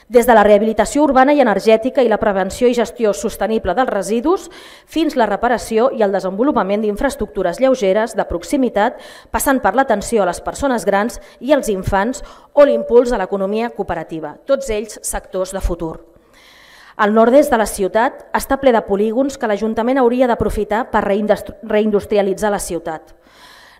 Des de la rehabilitació urbana i energètica i la prevenció i gestió sostenible dels residus fins la reparació i el desenvolupament d'infraestructures lleugeres de proximitat, passant per l'atenció a les persones grans i als infants o l'impuls a l'economia cooperativa, tots ells sectors de futur. El nord-est de la ciutat està ple de polígons que l'Ajuntament hauria d'aprofitar per reindustrialitzar la ciutat.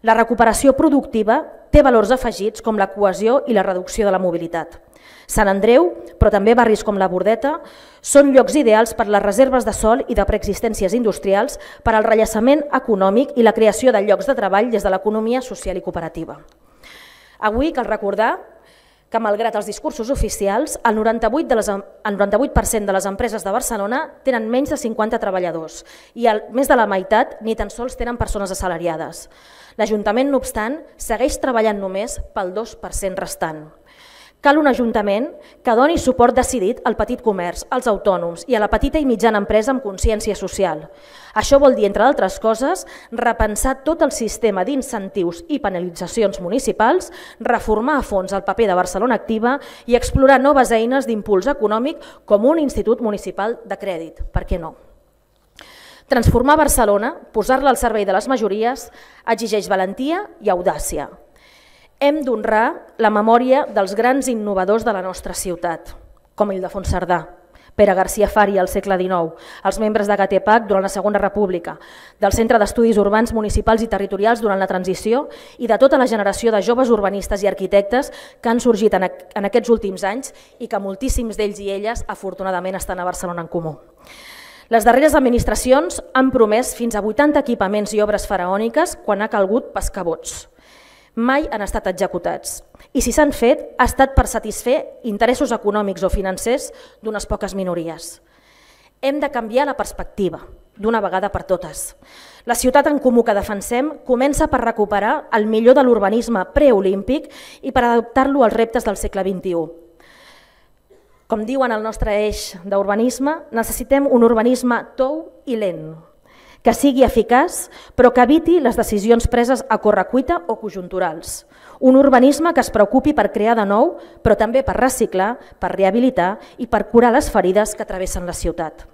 La recuperació productiva té valors afegits com la cohesió i la reducció de la mobilitat. Sant Andreu, però també barris com la Bordeta, són llocs ideals per les reserves de sòl i de preexistències industrials per al rellaçament econòmic i la creació de llocs de treball des de l'economia social i cooperativa. Avui cal recordar que, malgrat els discursos oficials, el 98% de les empreses de Barcelona tenen menys de 50 treballadors i més de la meitat ni tan sols tenen persones assalariades. L'Ajuntament, no obstant, segueix treballant només pel 2% restant. Cal un Ajuntament que doni suport decidit al petit comerç, als autònoms i a la petita i mitjana empresa amb consciència social. Això vol dir, entre d'altres coses, repensar tot el sistema d'incentius i penalitzacions municipals, reformar a fons el paper de Barcelona Activa i explorar noves eines d'impuls econòmic com un institut municipal de crèdit. Per què no? Transformar Barcelona, posar-la al servei de les majories, exigeix valentia i audàcia. Hem d'honrar la memòria dels grans innovadors de la nostra ciutat, com Ildefons Cerdà, Pere García Fària al segle XIX, els membres de GATEPAC durant la Segona República, del Centre d'Estudis Urbans Municipals i Territorials durant la transició i de tota la generació de joves urbanistes i arquitectes que han sorgit en aquests últims anys i que moltíssims d'ells i elles afortunadament estan a Barcelona en Comú. Les darreres administracions han promès fins a 80 equipaments i obres faraòniques quan ha calgut pescar vots. Mai han estat executats i si s'han fet ha estat per satisfer interessos econòmics o financers d'unes poques minories. Hem de canviar la perspectiva d'una vegada per totes. La ciutat en comú que defensem comença per recuperar el millor de l'urbanisme preolímpic i per adaptar-lo als reptes del segle XXI. Com diuen el nostre eix d'urbanisme, necessitem un urbanisme tou i lent, que sigui eficaç però que eviti les decisions preses a correcuita o conjunturals. Un urbanisme que es preocupi per crear de nou, però també per reciclar, per rehabilitar i per curar les ferides que travessen la ciutat.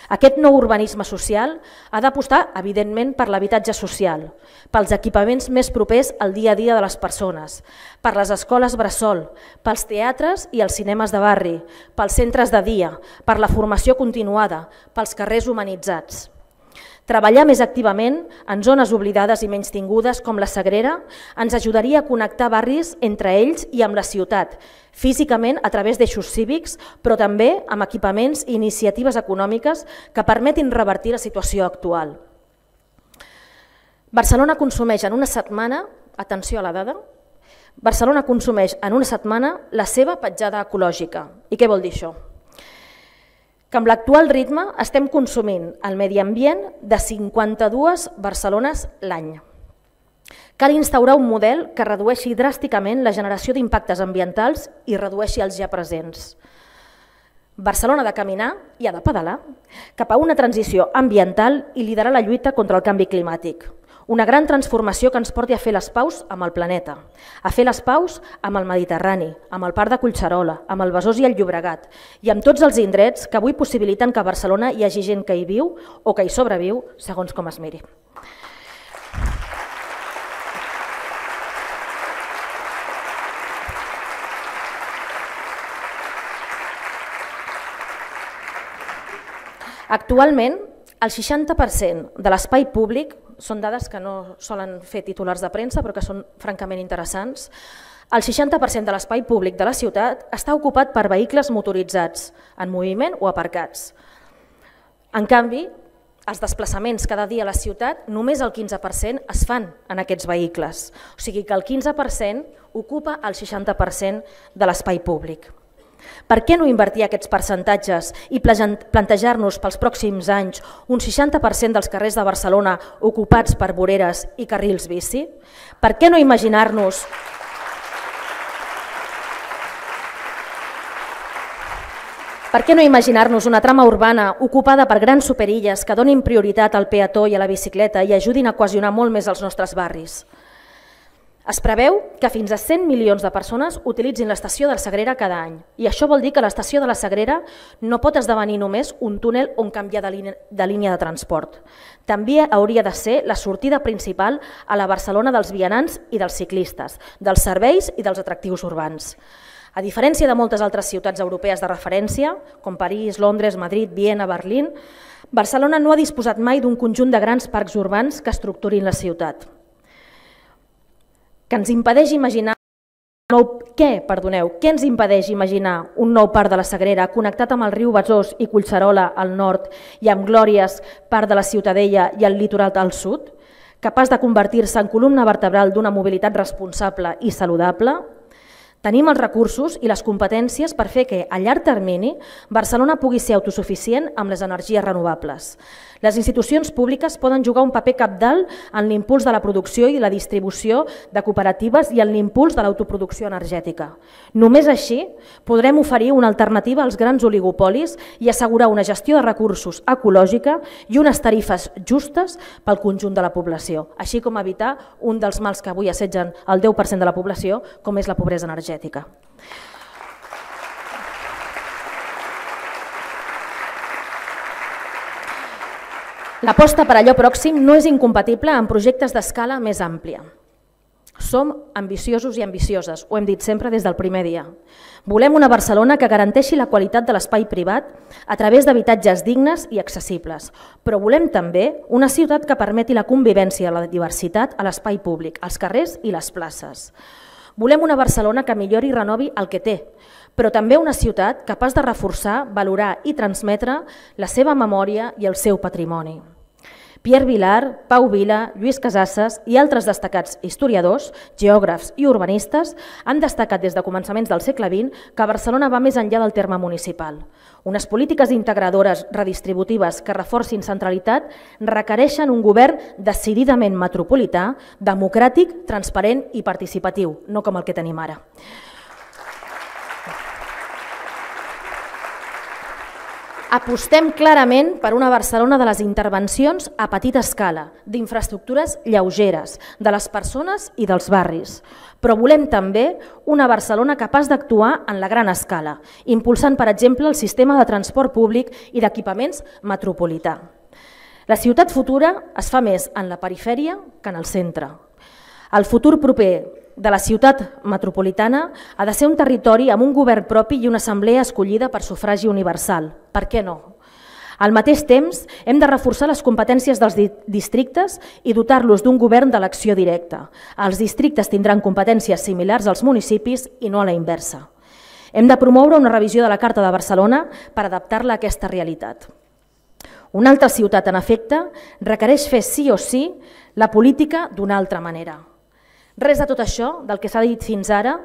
Aquest nou urbanisme social ha d'apostar, evidentment, per l'habitatge social, pels equipaments més propers al dia a dia de les persones, per les escoles bressol, pels teatres i els cinemes de barri, pels centres de dia, per la formació continuada, pels carrers humanitzats. Treballar més activament en zones oblidades i menystingudes com la Sagrera ens ajudaria a connectar barris entre ells i amb la ciutat, físicament a través d'eixos cívics, però també amb equipaments i iniciatives econòmiques que permetin revertir la situació actual. Barcelona consumeix en una setmana, atenció a la dada, Barcelona consumeix en una setmana la seva petjada ecològica. I què vol dir això? Que amb l'actual ritme estem consumint el medi ambient de 52 Barcelones l'any. Cal instaurar un model que redueixi dràsticament la generació d'impactes ambientals i redueixi els ja presents. Barcelona ha de caminar i ha de pedalar cap a una transició ambiental i liderar la lluita contra el canvi climàtic. Una gran transformació que ens porti a fer les paus amb el planeta, a fer les paus amb el Mediterrani, amb el Parc de Collserola, amb el Besòs i el Llobregat i amb tots els indrets que avui possibiliten que a Barcelona hi hagi gent que hi viu o que hi sobreviu, segons com es miri. Actualment, el 60% de l'espai públic, són dades que no solen fer titulars de premsa però que són francament interessants, el 60% de l'espai públic de la ciutat està ocupat per vehicles motoritzats, en moviment o aparcats. En canvi, els desplaçaments cada dia a la ciutat, només el 15% es fan en aquests vehicles. O sigui que el 15% ocupa el 60% de l'espai públic. Per què no invertir aquests percentatges i plantejar-nos pels pròxims anys un 60% dels carrers de Barcelona ocupats per voreres i carrils bici? Per què no imaginar-nos una trama urbana ocupada per grans superilles que donin prioritat al peató i a la bicicleta i ajudin a cohesionar molt més els nostres barris? Es preveu que fins a 100 milions de persones utilitzin l'estació de la Sagrera cada any i això vol dir que l'estació de la Sagrera no pot esdevenir només un túnel on canviar de línia de transport. També hauria de ser la sortida principal a la Barcelona dels vianants i dels ciclistes, dels serveis i dels atractius urbans. A diferència de moltes altres ciutats europees de referència, com París, Londres, Madrid, Viena, Berlín, Barcelona no ha disposat mai d'un conjunt de grans parcs urbans que estructurin la ciutat. Què ens impedeix imaginar un nou parc de la Sagrera connectat amb el riu Besòs i Collserola al nord i amb Glòries, parc de la Ciutadella i el litoral al sud, capaç de convertir-se en columna vertebral d'una mobilitat responsable i saludable? Tenim els recursos i les competències per fer que, a llarg termini, Barcelona pugui ser autosuficient amb les energies renovables. Les institucions públiques poden jugar un paper cabdal en l'impuls de la producció i la distribució de cooperatives i en l'impuls de l'autoproducció energètica. Només així podrem oferir una alternativa als grans oligopolis i assegurar una gestió de recursos ecològica i unes tarifes justes pel conjunt de la població, així com evitar un dels mals que avui assetgen el 10% de la població, com és la pobresa energètica. L'aposta per allò pròxim no és incompatible amb projectes d'escala més àmplia. Som ambiciosos i ambicioses, ho hem dit sempre des del primer dia. Volem una Barcelona que garanteixi la qualitat de l'espai privat a través d'habitatges dignes i accessibles, però volem també una ciutat que permeti la convivència i la diversitat a l'espai públic, als carrers i les places. Volem una Barcelona que millori i renovi el que té, però també una ciutat capaç de reforçar, valorar i transmetre la seva memòria i el seu patrimoni. Pierre Vilar, Pau Vila, Lluís Casasses i altres destacats historiadors, geògrafs i urbanistes han destacat des de començaments del segle XX que Barcelona va més enllà del terme municipal. Unes polítiques integradores redistributives que reforcin centralitat requereixen un govern decididament metropolità, democràtic, transparent i participatiu, no com el que tenim ara. Apostem clarament per una Barcelona de les intervencions a petita escala, d'infraestructures lleugeres, de les persones i dels barris. Però volem també una Barcelona capaç d'actuar en la gran escala, impulsant, per exemple, el sistema de transport públic i d'equipaments metropolità. La ciutat futura es fa més en la perifèria que en el centre. El futur proper de la ciutat metropolitana ha de ser un territori amb un govern propi i una assemblea escollida per sufragi universal. Per què no? Al mateix temps, hem de reforçar les competències dels districtes i dotar-los d'un govern d'elecció directa. Els districtes tindran competències similars als municipis i no a la inversa. Hem de promoure una revisió de la Carta de Barcelona per adaptar-la a aquesta realitat. Una altra ciutat, en efecte, requereix fer sí o sí la política d'una altra manera. Res de tot això, del que s'ha dit fins ara,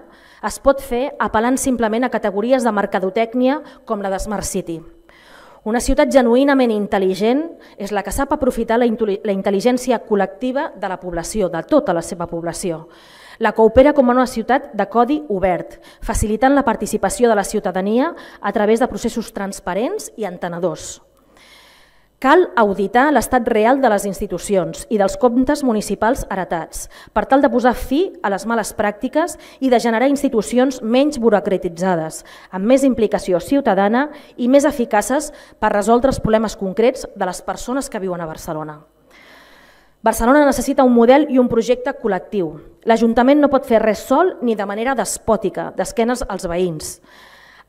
es pot fer apel·lant simplement a categories de mercadotècnia com la de Smart City. Una ciutat genuïnament intel·ligent és la que sap aprofitar la intel·ligència col·lectiva de la població, de tota la seva població. La que opera com una ciutat de codi obert, facilitant la participació de la ciutadania a través de processos transparents i entenedors. Cal auditar l'estat real de les institucions i dels comptes municipals heretats, per tal de posar fi a les males pràctiques i de generar institucions menys burocratitzades, amb més implicació ciutadana i més eficaces per resoldre els problemes concrets de les persones que viuen a Barcelona. Barcelona necessita un model i un projecte col·lectiu. L'Ajuntament no pot fer res sol ni de manera despòtica, d'esquenes als veïns.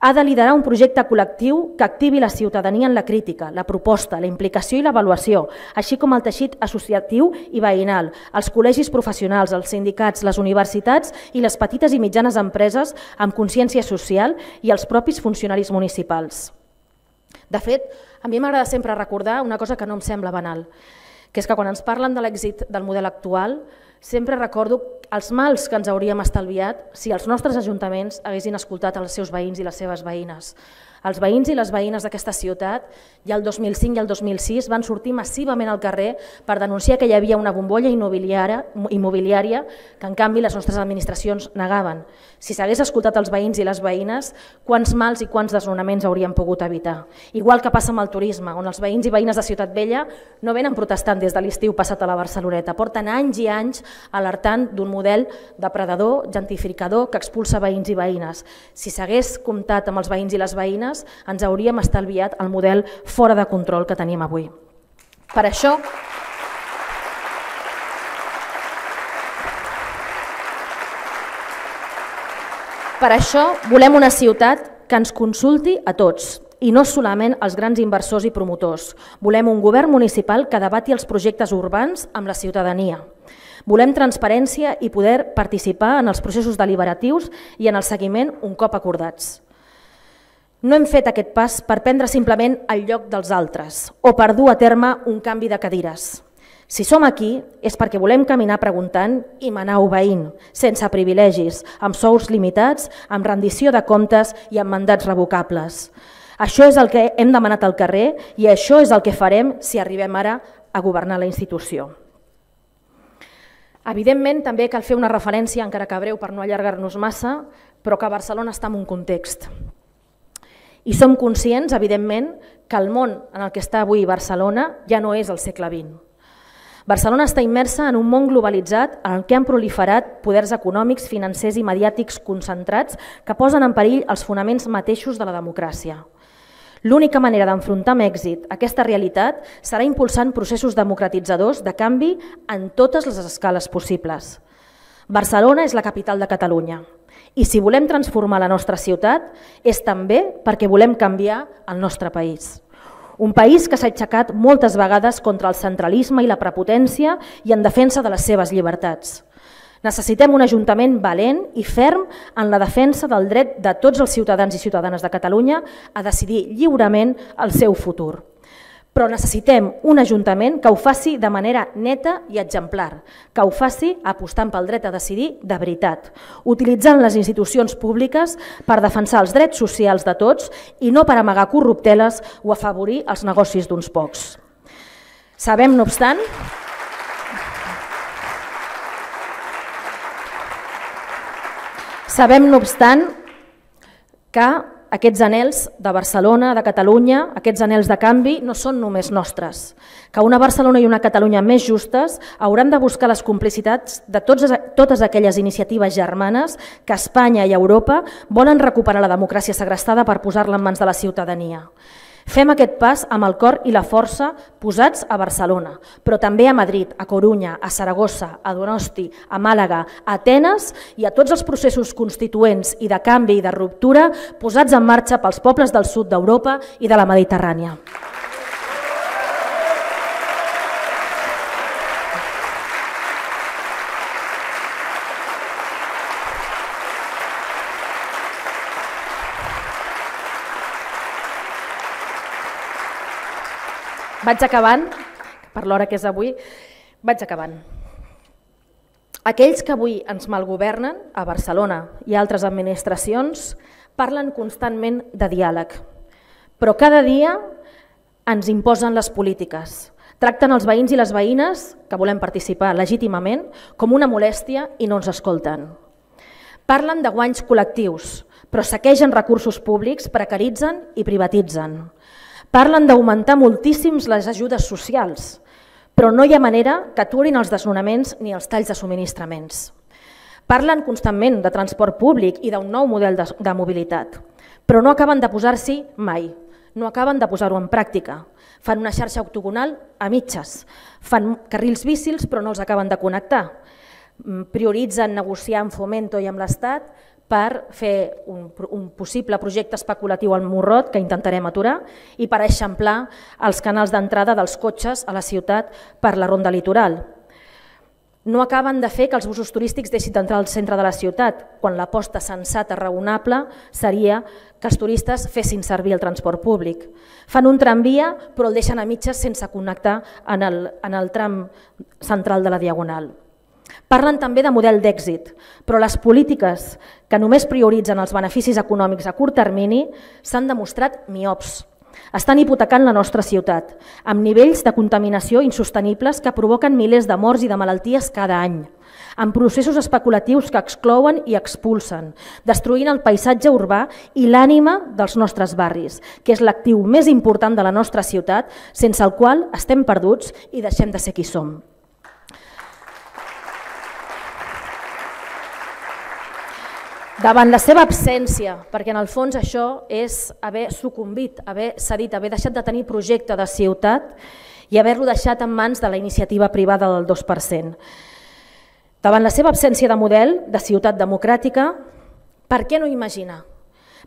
Ha de liderar un projecte col·lectiu que activi la ciutadania en la crítica, la proposta, la implicació i l'avaluació, així com el teixit associatiu i veïnal, els col·legis professionals, els sindicats, les universitats i les petites i mitjanes empreses amb consciència social i els propis funcionaris municipals. De fet, a mi m'agrada sempre recordar una cosa que no em sembla banal, que és que quan ens parlen de l'èxit del model actual, sempre recordo els mals que ens hauríem estalviat si els nostres ajuntaments haguessin escoltat els seus veïns i les seves veïnes. Els veïns i les veïnes d'aquesta ciutat, ja el 2005 i el 2006, van sortir massivament al carrer per denunciar que hi havia una bombolla immobiliària que, en canvi, les nostres administracions negaven. Si s'hagués escoltat els veïns i les veïnes, quants mals i quants desnonaments hauríem pogut evitar. Igual que passa amb el turisme, on els veïns i veïnes de Ciutat Vella no venen protestant des de l'estiu passat a la Barceloneta, porten anys i anys alertant d'un model depredador, gentrificador, que expulsa veïns i veïnes. Si s'hagués comptat amb els veïns i les veïnes, ens hauríem estalviat el model fora de control que tenim avui. Per això volem una ciutat que ens consulti a tots i no solament als grans inversors i promotors. Volem un govern municipal que debati els projectes urbans amb la ciutadania. Volem transparència i poder participar en els processos deliberatius i en el seguiment un cop acordats. No hem fet aquest pas per prendre simplement el lloc dels altres o per dur a terme un canvi de cadires. Si som aquí és perquè volem caminar preguntant i manar obeint, sense privilegis, amb sous limitats, amb rendició de comptes i amb mandats revocables. Això és el que hem demanat al carrer i això és el que farem si arribem ara a governar la institució. Evidentment, també cal fer una referència, encara que breu per no allargar-nos massa, però que Barcelona està en un context. I som conscients, evidentment, que el món en el que està avui Barcelona ja no és el segle XX. Barcelona està immersa en un món globalitzat en el que han proliferat poders econòmics, financers i mediàtics concentrats que posen en perill els fonaments mateixos de la democràcia. L'única manera d'enfrontar amb èxit aquesta realitat serà impulsant processos democratitzadors de canvi en totes les escales possibles. Barcelona és la capital de Catalunya i si volem transformar la nostra ciutat és també perquè volem canviar el nostre país. Un país que s'ha aixecat moltes vegades contra el centralisme i la prepotència i en defensa de les seves llibertats. Necessitem un ajuntament valent i ferm en la defensa del dret de tots els ciutadans i ciutadanes de Catalunya a decidir lliurement el seu futur. Però necessitem un ajuntament que ho faci de manera neta i exemplar, que ho faci apostant pel dret a decidir de veritat, utilitzant les institucions públiques per defensar els drets socials de tots i no per amagar corrupteles o afavorir els negocis d'uns pocs. Sabem, no obstant, que aquests anhels de Barcelona, de Catalunya, aquests anhels de canvi no són només nostres, que una Barcelona i una Catalunya més justes hauran de buscar les complicitats de totes aquelles iniciatives germanes que Espanya i Europa volen recuperar la democràcia segrestada per posar-la en mans de la ciutadania. Fem aquest pas amb el cor i la força posats a Barcelona, però també a Madrid, a Corunya, a Saragossa, a Donosti, a Màlaga, a Atenes i a tots els processos constituents i de canvi i de ruptura posats en marxa pels pobles del sud d'Europa i de la Mediterrània. Vaig acabant, per l'hora que és avui, vaig acabant. Aquells que avui ens malgovernen a Barcelona i a altres administracions parlen constantment de diàleg, però cada dia ens imposen les polítiques. Tracten els veïns i les veïnes, que volem participar legítimament, com una molèstia i no ens escolten. Parlen de guanys col·lectius, però saquegen recursos públics, precaritzen i privatitzen. Parlen d'augmentar moltíssims les ajudes socials, però no hi ha manera que aturin els desnonaments ni els talls de subministraments. Parlen constantment de transport públic i d'un nou model de mobilitat, però no acaben de posar-s'hi mai, no acaben de posar-ho en pràctica. Fan una xarxa octogonal a mitges, fan carrils bicils però no els acaben de connectar, prioritzen negociar amb Fomento i amb l'Estat per fer un possible projecte especulatiu al Morrot, que intentarem aturar, i per eixamplar els canals d'entrada dels cotxes a la ciutat per la ronda litoral. No acaben de fer que els busos turístics deixin d'entrar al centre de la ciutat, quan l'aposta sensata, raonable, seria que els turistes fessin servir el transport públic. Fan un tramvia, però el deixen a mitges sense connectar en el tram central de la Diagonal. Parlen també de model d'èxit, però les polítiques que només prioritzen els beneficis econòmics a curt termini s'han demostrat miops. Estan hipotecant la nostra ciutat, amb nivells de contaminació insostenibles que provoquen milers de morts i de malalties cada any, amb processos especulatius que exclouen i expulsen, destruint el paisatge urbà i l'ànima dels nostres barris, que és l'actiu més important de la nostra ciutat, sense el qual estem perduts i deixem de ser qui som. Davant la seva absència, perquè en el fons això és haver sucumbit, haver cedit, haver deixat de tenir projecte de ciutat i haver-lo deixat en mans de la iniciativa privada del 2%. Davant la seva absència de model de ciutat democràtica, per què no imaginar?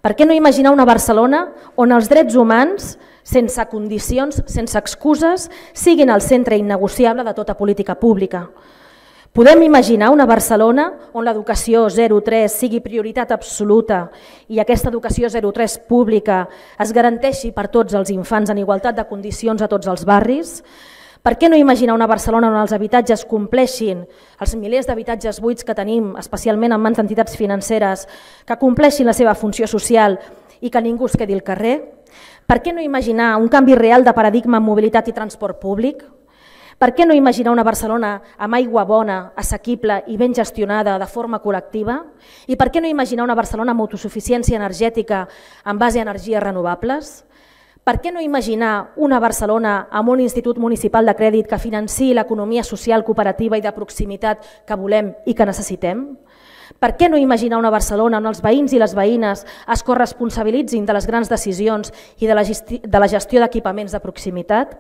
Per què no imaginar una Barcelona on els drets humans, sense condicions, sense excuses, siguin el centre innegociable de tota política pública? Podem imaginar una Barcelona on l'educació 0-3 sigui prioritat absoluta i aquesta educació 0-3 pública es garanteixi per tots els infants en igualtat de condicions a tots els barris? Per què no imaginar una Barcelona on els habitatges compleixin, els milers d'habitatges buits que tenim, especialment en mans d'entitats financeres, que compleixin la seva funció social i que ningú es quedi al carrer? Per què no imaginar un canvi real de paradigma en mobilitat i transport públic? Per què no imaginar una Barcelona amb aigua bona, assequible i ben gestionada de forma col·lectiva? I per què no imaginar una Barcelona amb autosuficiència energètica en base a energies renovables? Per què no imaginar una Barcelona amb un institut municipal de crèdit que financiï l'economia social, cooperativa i de proximitat que volem i que necessitem? Per què no imaginar una Barcelona on els veïns i les veïnes es corresponsabilitzin de les grans decisions i de la gestió d'equipaments de proximitat?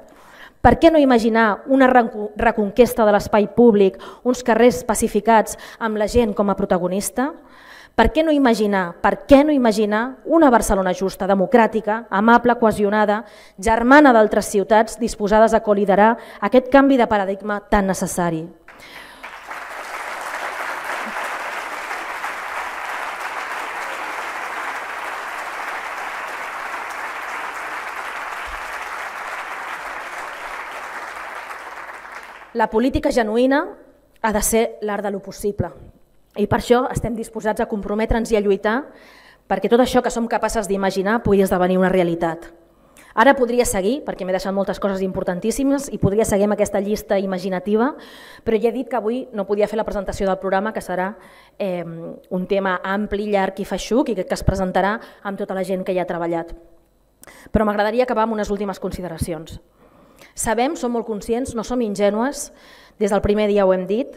Per què no imaginar una reconquesta de l'espai públic, uns carrers pacificats amb la gent com a protagonista? Per què no imaginar una Barcelona justa, democràtica, amable, cohesionada, germana d'altres ciutats disposades a coliderar aquest canvi de paradigma tan necessari? La política genuïna ha de ser l'art de lo possible i per això estem disposats a comprometre'ns i a lluitar perquè tot això que som capaces d'imaginar pugui esdevenir una realitat. Ara podria seguir, perquè m'he deixat moltes coses importantíssimes i podria seguir amb aquesta llista imaginativa, però ja he dit que avui no podia fer la presentació del programa, que serà un tema ampli, llarg i feixuc i que es presentarà amb tota la gent que hi ha treballat. Però m'agradaria acabar amb unes últimes consideracions. Sabem, som molt conscients, no som ingènues, des del primer dia ho hem dit,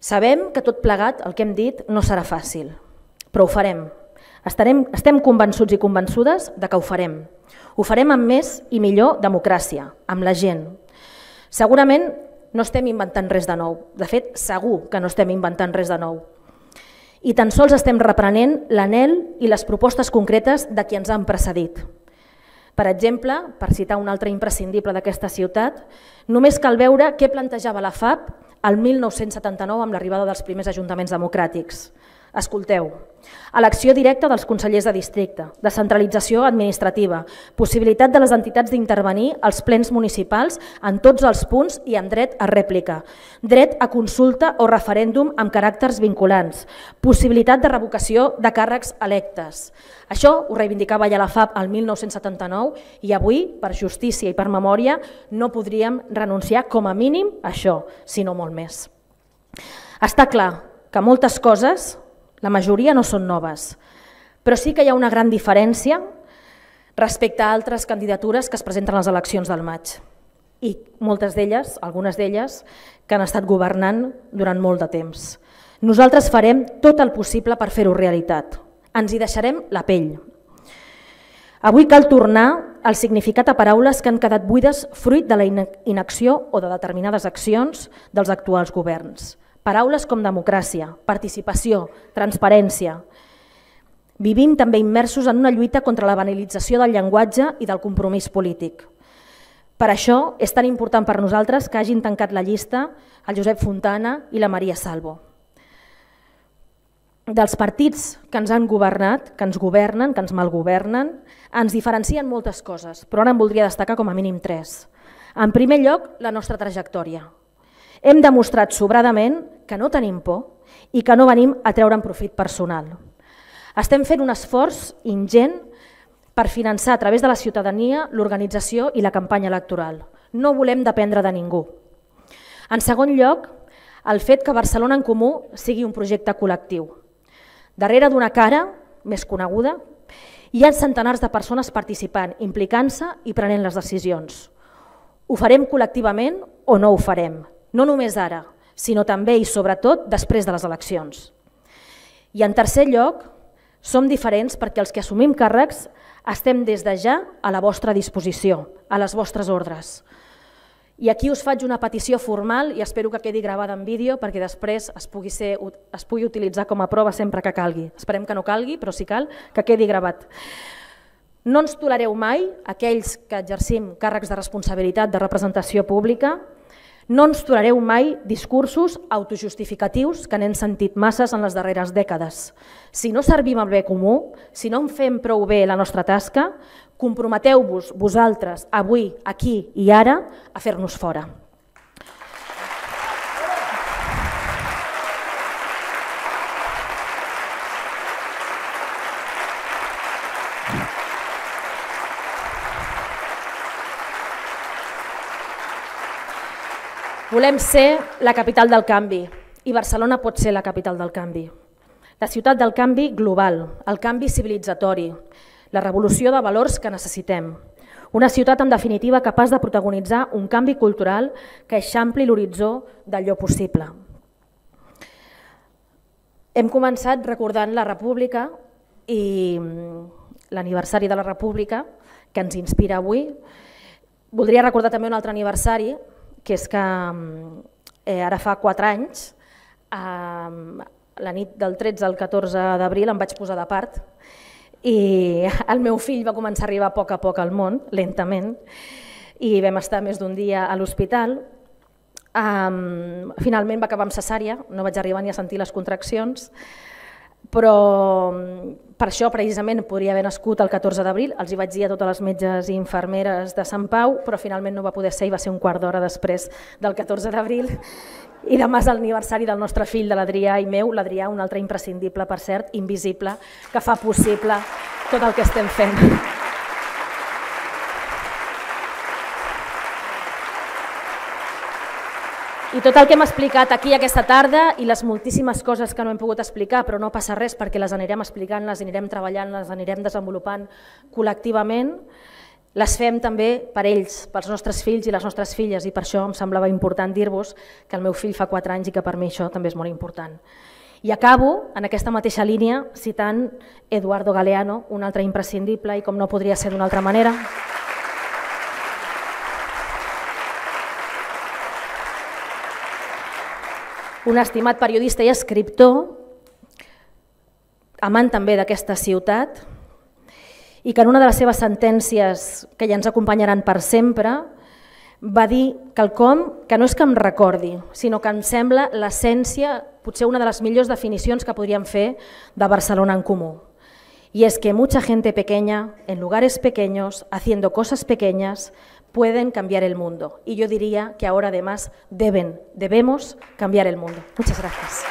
sabem que tot plegat, el que hem dit, no serà fàcil, però ho farem. Estem convençuts i convençudes de que ho farem. Ho farem amb més i millor democràcia, amb la gent. Segurament no estem inventant res de nou, de fet segur que no estem inventant res de nou. I tan sols estem reprenent l'anhel i les propostes concretes de qui ens han precedit. Per exemple, per citar un altre imprescindible d'aquesta ciutat, només cal veure què plantejava la FAP el 1979 amb l'arribada dels primers ajuntaments democràtics. Escolteu, elecció directa dels consellers de districte, descentralització administrativa, possibilitat de les entitats d'intervenir als plens municipals en tots els punts i amb dret a rèplica, dret a consulta o referèndum amb caràcters vinculants, possibilitat de revocació de càrrecs electes. Això ho reivindicava ja la FAP el 1979 i avui, per justícia i per memòria, no podríem renunciar com a mínim a això, sinó molt més. Està clar que moltes coses, la majoria no són noves, però sí que hi ha una gran diferència respecte a altres candidatures que es presenten a les eleccions del maig. I moltes d'elles, algunes d'elles, que han estat governant durant molt de temps. Nosaltres farem tot el possible per fer-ho realitat. Ens hi deixarem la pell. Avui cal tornar al significat a paraules que han quedat buides fruit de la inacció o de determinades accions dels actuals governs. Paraules com democràcia, participació, transparència. Vivim també immersos en una lluita contra la banalització del llenguatge i del compromís polític. Per això és tan important per nosaltres que hagin tancat la llista el Josep Fontana i la Maria Salvo. Dels partits que ens han governat, que ens governen, que ens malgovernen, ens diferencien moltes coses, però ara en voldria destacar com a mínim 3. En primer lloc, la nostra trajectòria. Hem demostrat sobradament que no tenim por i que no venim a treure'n profit personal. Estem fent un esforç ingent per finançar a través de la ciutadania l'organització i la campanya electoral. No volem dependre de ningú. En segon lloc, el fet que Barcelona en Comú sigui un projecte col·lectiu. Darrere d'una cara més coneguda hi ha centenars de persones participant, implicant-se i prenent les decisions. Ho farem col·lectivament o no ho farem? No només ara, sinó també i sobretot després de les eleccions. I en tercer lloc, som diferents perquè els que assumim càrrecs estem des de ja a la vostra disposició, a les vostres ordres. I aquí us faig una petició formal i espero que quedi gravada en vídeo perquè després es pugui utilitzar com a prova sempre que calgui. Esperem que no calgui, però si cal, que quedi gravat. No ens tolereu mai, aquells que exercim càrrecs de responsabilitat de representació pública, no ens tolereu mai discursos autojustificatius que n'hem sentit masses en les darreres dècades. Si no servim al bé comú, si no en fem prou bé la nostra tasca, comprometeu-vos vosaltres, avui, aquí i ara, a fer-nos fora. Volem ser la capital del canvi i Barcelona pot ser la capital del canvi. La ciutat del canvi global, el canvi civilitzatori, la revolució de valors que necessitem. Una ciutat, en definitiva, capaç de protagonitzar un canvi cultural que eixampli l'horitzó d'allò possible. Hem començat recordant la República i l'aniversari de la República, que ens inspira avui. Voldria recordar també un altre aniversari, que és que ara fa 4 anys, la nit del 13 al 14 d'abril em vaig posar de part i el meu fill va començar a arribar a poc al món, lentament, i vam estar més d'un dia a l'hospital. Finalment va acabar amb cesària, no vaig arribar ni a sentir les contraccions, però per això precisament podria haver nascut el 14 d'abril, els hi vaig dir a totes les metges i infermeres de Sant Pau, però finalment no va poder ser i va ser un quart d'hora després del 14 d'abril. I demà és l'aniversari del nostre fill, de l'Adrià i meu, l'Adrià, un altre imprescindible, per cert, invisible, que fa possible tot el que estem fent. I tot el que hem explicat aquí aquesta tarda i les moltíssimes coses que no hem pogut explicar, però no passa res perquè les anirem explicant, les anirem treballant, les anirem desenvolupant col·lectivament, les fem també per ells, pels nostres fills i les nostres filles, i per això em semblava important dir-vos que el meu fill fa 4 anys i que per mi això també és molt important. I acabo en aquesta mateixa línia citant Eduardo Galeano, un altre imprescindible i com no podria ser d'una altra manera. Un estimat periodista i escriptor, amant també d'aquesta ciutat, i que en una de les seves sentències, que ja ens acompanyaran per sempre, va dir quelcom que no és que em recordi, sinó que em sembla l'essència, potser una de les millors definicions que podríem fer de Barcelona en Comú. Y es que mucha gente pequeña, en lugares pequeños, haciendo cosas pequeñas, pueden cambiar el mundo. Y yo diría que ahora además debemos cambiar el mundo. Muchas gracias.